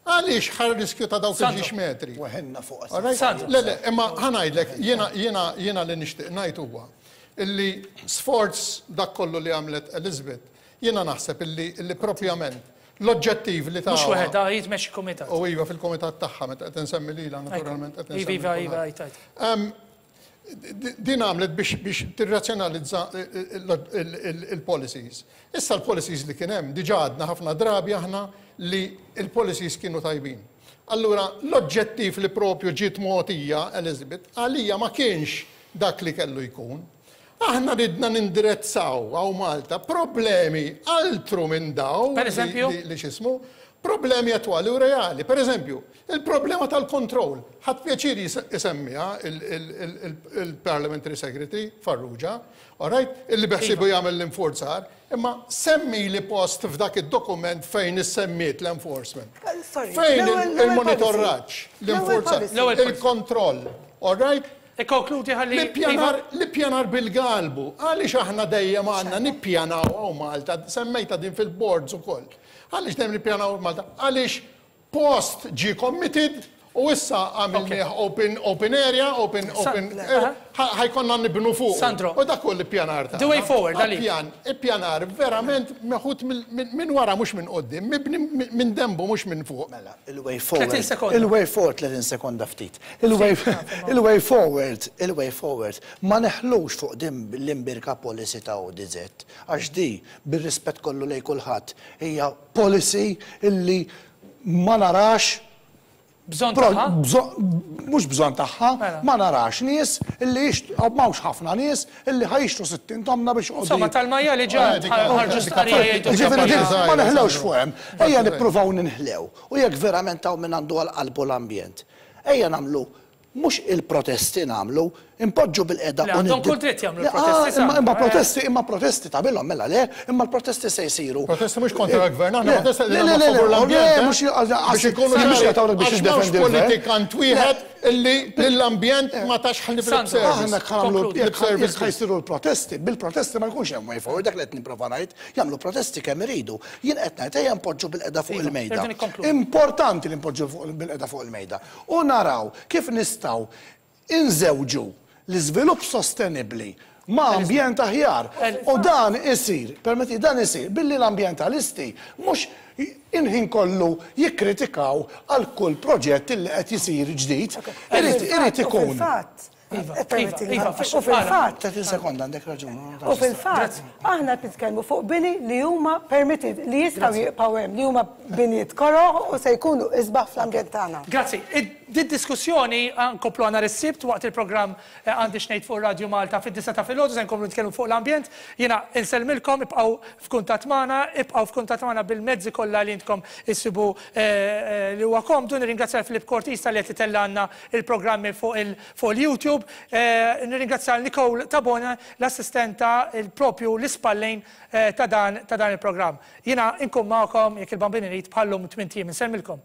Għaliex ħar riskju ta' dawk Sandro. il-ġiex metri? Weħenna fuq All right? Sandro. Le, le, imma ħa ngħidlek, jiena, jiena, jiena li nixtieq ngħid huwa illi sforz dak kollu li għamlet Elizabeth, jiena naħseb illi, illi propjament l-oġġettiv li Mhux tagħha waħedha, jitmexxi kumitat. U iva fil-kumitat tagħha meta qed insemmi lilha naturalment qed Iva, insemmi iva, kulħadd. iva, iva, iva. Em, di-, din għamlet biex, biex tirrazzjonalizza il-, il-, il-policies. Issa l-policies li kien hemm diġà għadna ħafna drabi aħna li il-policies kienu tajbin. Allura l-oġġettiv li propju ġiet mogħtija Elizabeth għalija ma kienx dak li kellu jkun. Aħna ridna nindirezzaw għaw Malta problemi altru minn daw Per eżempju? li, li xismu, problemi attwali u reali. Per eżempju, il-problema tal-kontroll. Ħadd pjaċir jis-, isemmiha il-, il-, il-, il-, il-Parliamentary Secretary Farrugia, all right? Illi beħsibu jagħmel l-infurzar, imma semmi li post f'dak id-dokument fejn issemmiet l-enforcement. Eh, sorry, Fejn l-ewwel- il-, l-ewwel il-monitoraġġ, policy. l-infurzar, L-ewwel policy. L-ewwel policy. il-kontroll, all right? Ikkonkludi ħalli L-ippjanar, l-ippjanar bil-galbu, għaliex aħna dejjem għandna nippjanaw hawn Malta, semmejta din fil-boards ukoll. Għaliex dejjem nippjanaw Malta? Għaliex post ġie committed u issa għamilnieh open, open area, open, Sa- open, le. eh, ħa-, ħajkonna nibnu fuq. Sandro. U dak hu l-ippjanar tagħna. The way forward, għalik. Ippjan, ippjanar verament meħud mill-, minn, minn wara mhux minn quddiem, mibni minn, minn dembu mhux minn fuq. Mela, il-way forward. tletin sekonda. Il-way forward, tletin sekonda ftit. Il-way, il-way forward, il-way forward, ma neħlux fuq din l-imbirka policy ta' O D Z, għax di, bir-rispett kollu lej kulħadd, hija policy illi ma narax Bżonn Pro- tagħha? bżon-, mhux bżonn tagħha, Mela. ma narax nies illi jixtru, m'hawnx ħafna nies illi ħajxtru sittin tomna biex joqogħdu Insomma, tal-majja li ġa Eh, dik- ħarġu dik- stqarrija jgħidu Ġifieri kampanja. din Żgħira, ma neħlewx żgħira. fuq hemm, ejja nippruvaw ninħlew. U jekk verament hawn min għandu għal qalbu l-ambjent, ejja nagħmlu mhux il-protesti nagħmlu, impoġġu bil-qeda Le, u għandhom niddi- kull dritt jagħmlu Le, l-protesti, ah, imma, imma sa. protesti, imma protesti tagħmilhom mela le, imma l-protesti se jsiru. Protesti mhux kontra l-gvern, aħna Le, protesti le, li le, nagħmlu le, favur le, l-ambjent, eh? mhux għal- Biex ikunu mhux ċari, jagħtawlek biex għax m'hawnx jiddefendi l-gvern. politikant wieħed Illi l-ambjent ma tax ħalli lip service. Aħna nagħmlu jekk ħa jsiru l-protesti, bil-protesti ma jkunx hemm way forward, dak li qed nipprova ngħid, jagħmlu protesti kemm iridu. Jien qed ngħid ejja npoġġu bilqiegħda fuq il-mejda. Importanti li npoġġu bilqiegħda fuq il-mejda. U naraw kif nistgħu inżewġu l-iżvilupp sostenibbli ma' ambjent aħjar. U dan isir, permetti, dan isir billi l-ambjentalisti mhux il-ħin kollu jikkritikaw għal kull proġett li qed jisir ġdid. Irid ikun. Iva, iva, u fil-fatt. tletin sekonda, għandek raġun. U fil-fatt, aħna nitkellmu fuq bini li huma permitted, li jistgħu jibqgħu hemm, li huma binijiet koroh u se jkunu isbaħ fl-ambjent tagħna. Grazzi. Did-diskussjoni nkomplu nhar is-Sibt waqt il-programm Għandi X'Ngħid fuq Radio Malta fid-disgħa ta' filgħodu, se nkomplu nitkellmu fuq l-ambjent. Jiena insellmilkom, ibqgħu f'kuntatt magħna, ibqgħu f'kuntatt magħna bil-mezzi kollha li intkom issibu li huwa komdu. Nirringrazzja Filip Cortis li qed itellgħalna il-programmi fuq il-YouTube. Nirringrazzja Nicole Tabona, l-assistenta il-propju l-ispallejn ta' dan il-programm. Jiena nkun magħkom jekk il-Bambin irid bħallum tmint ijiem. Insellmilkom.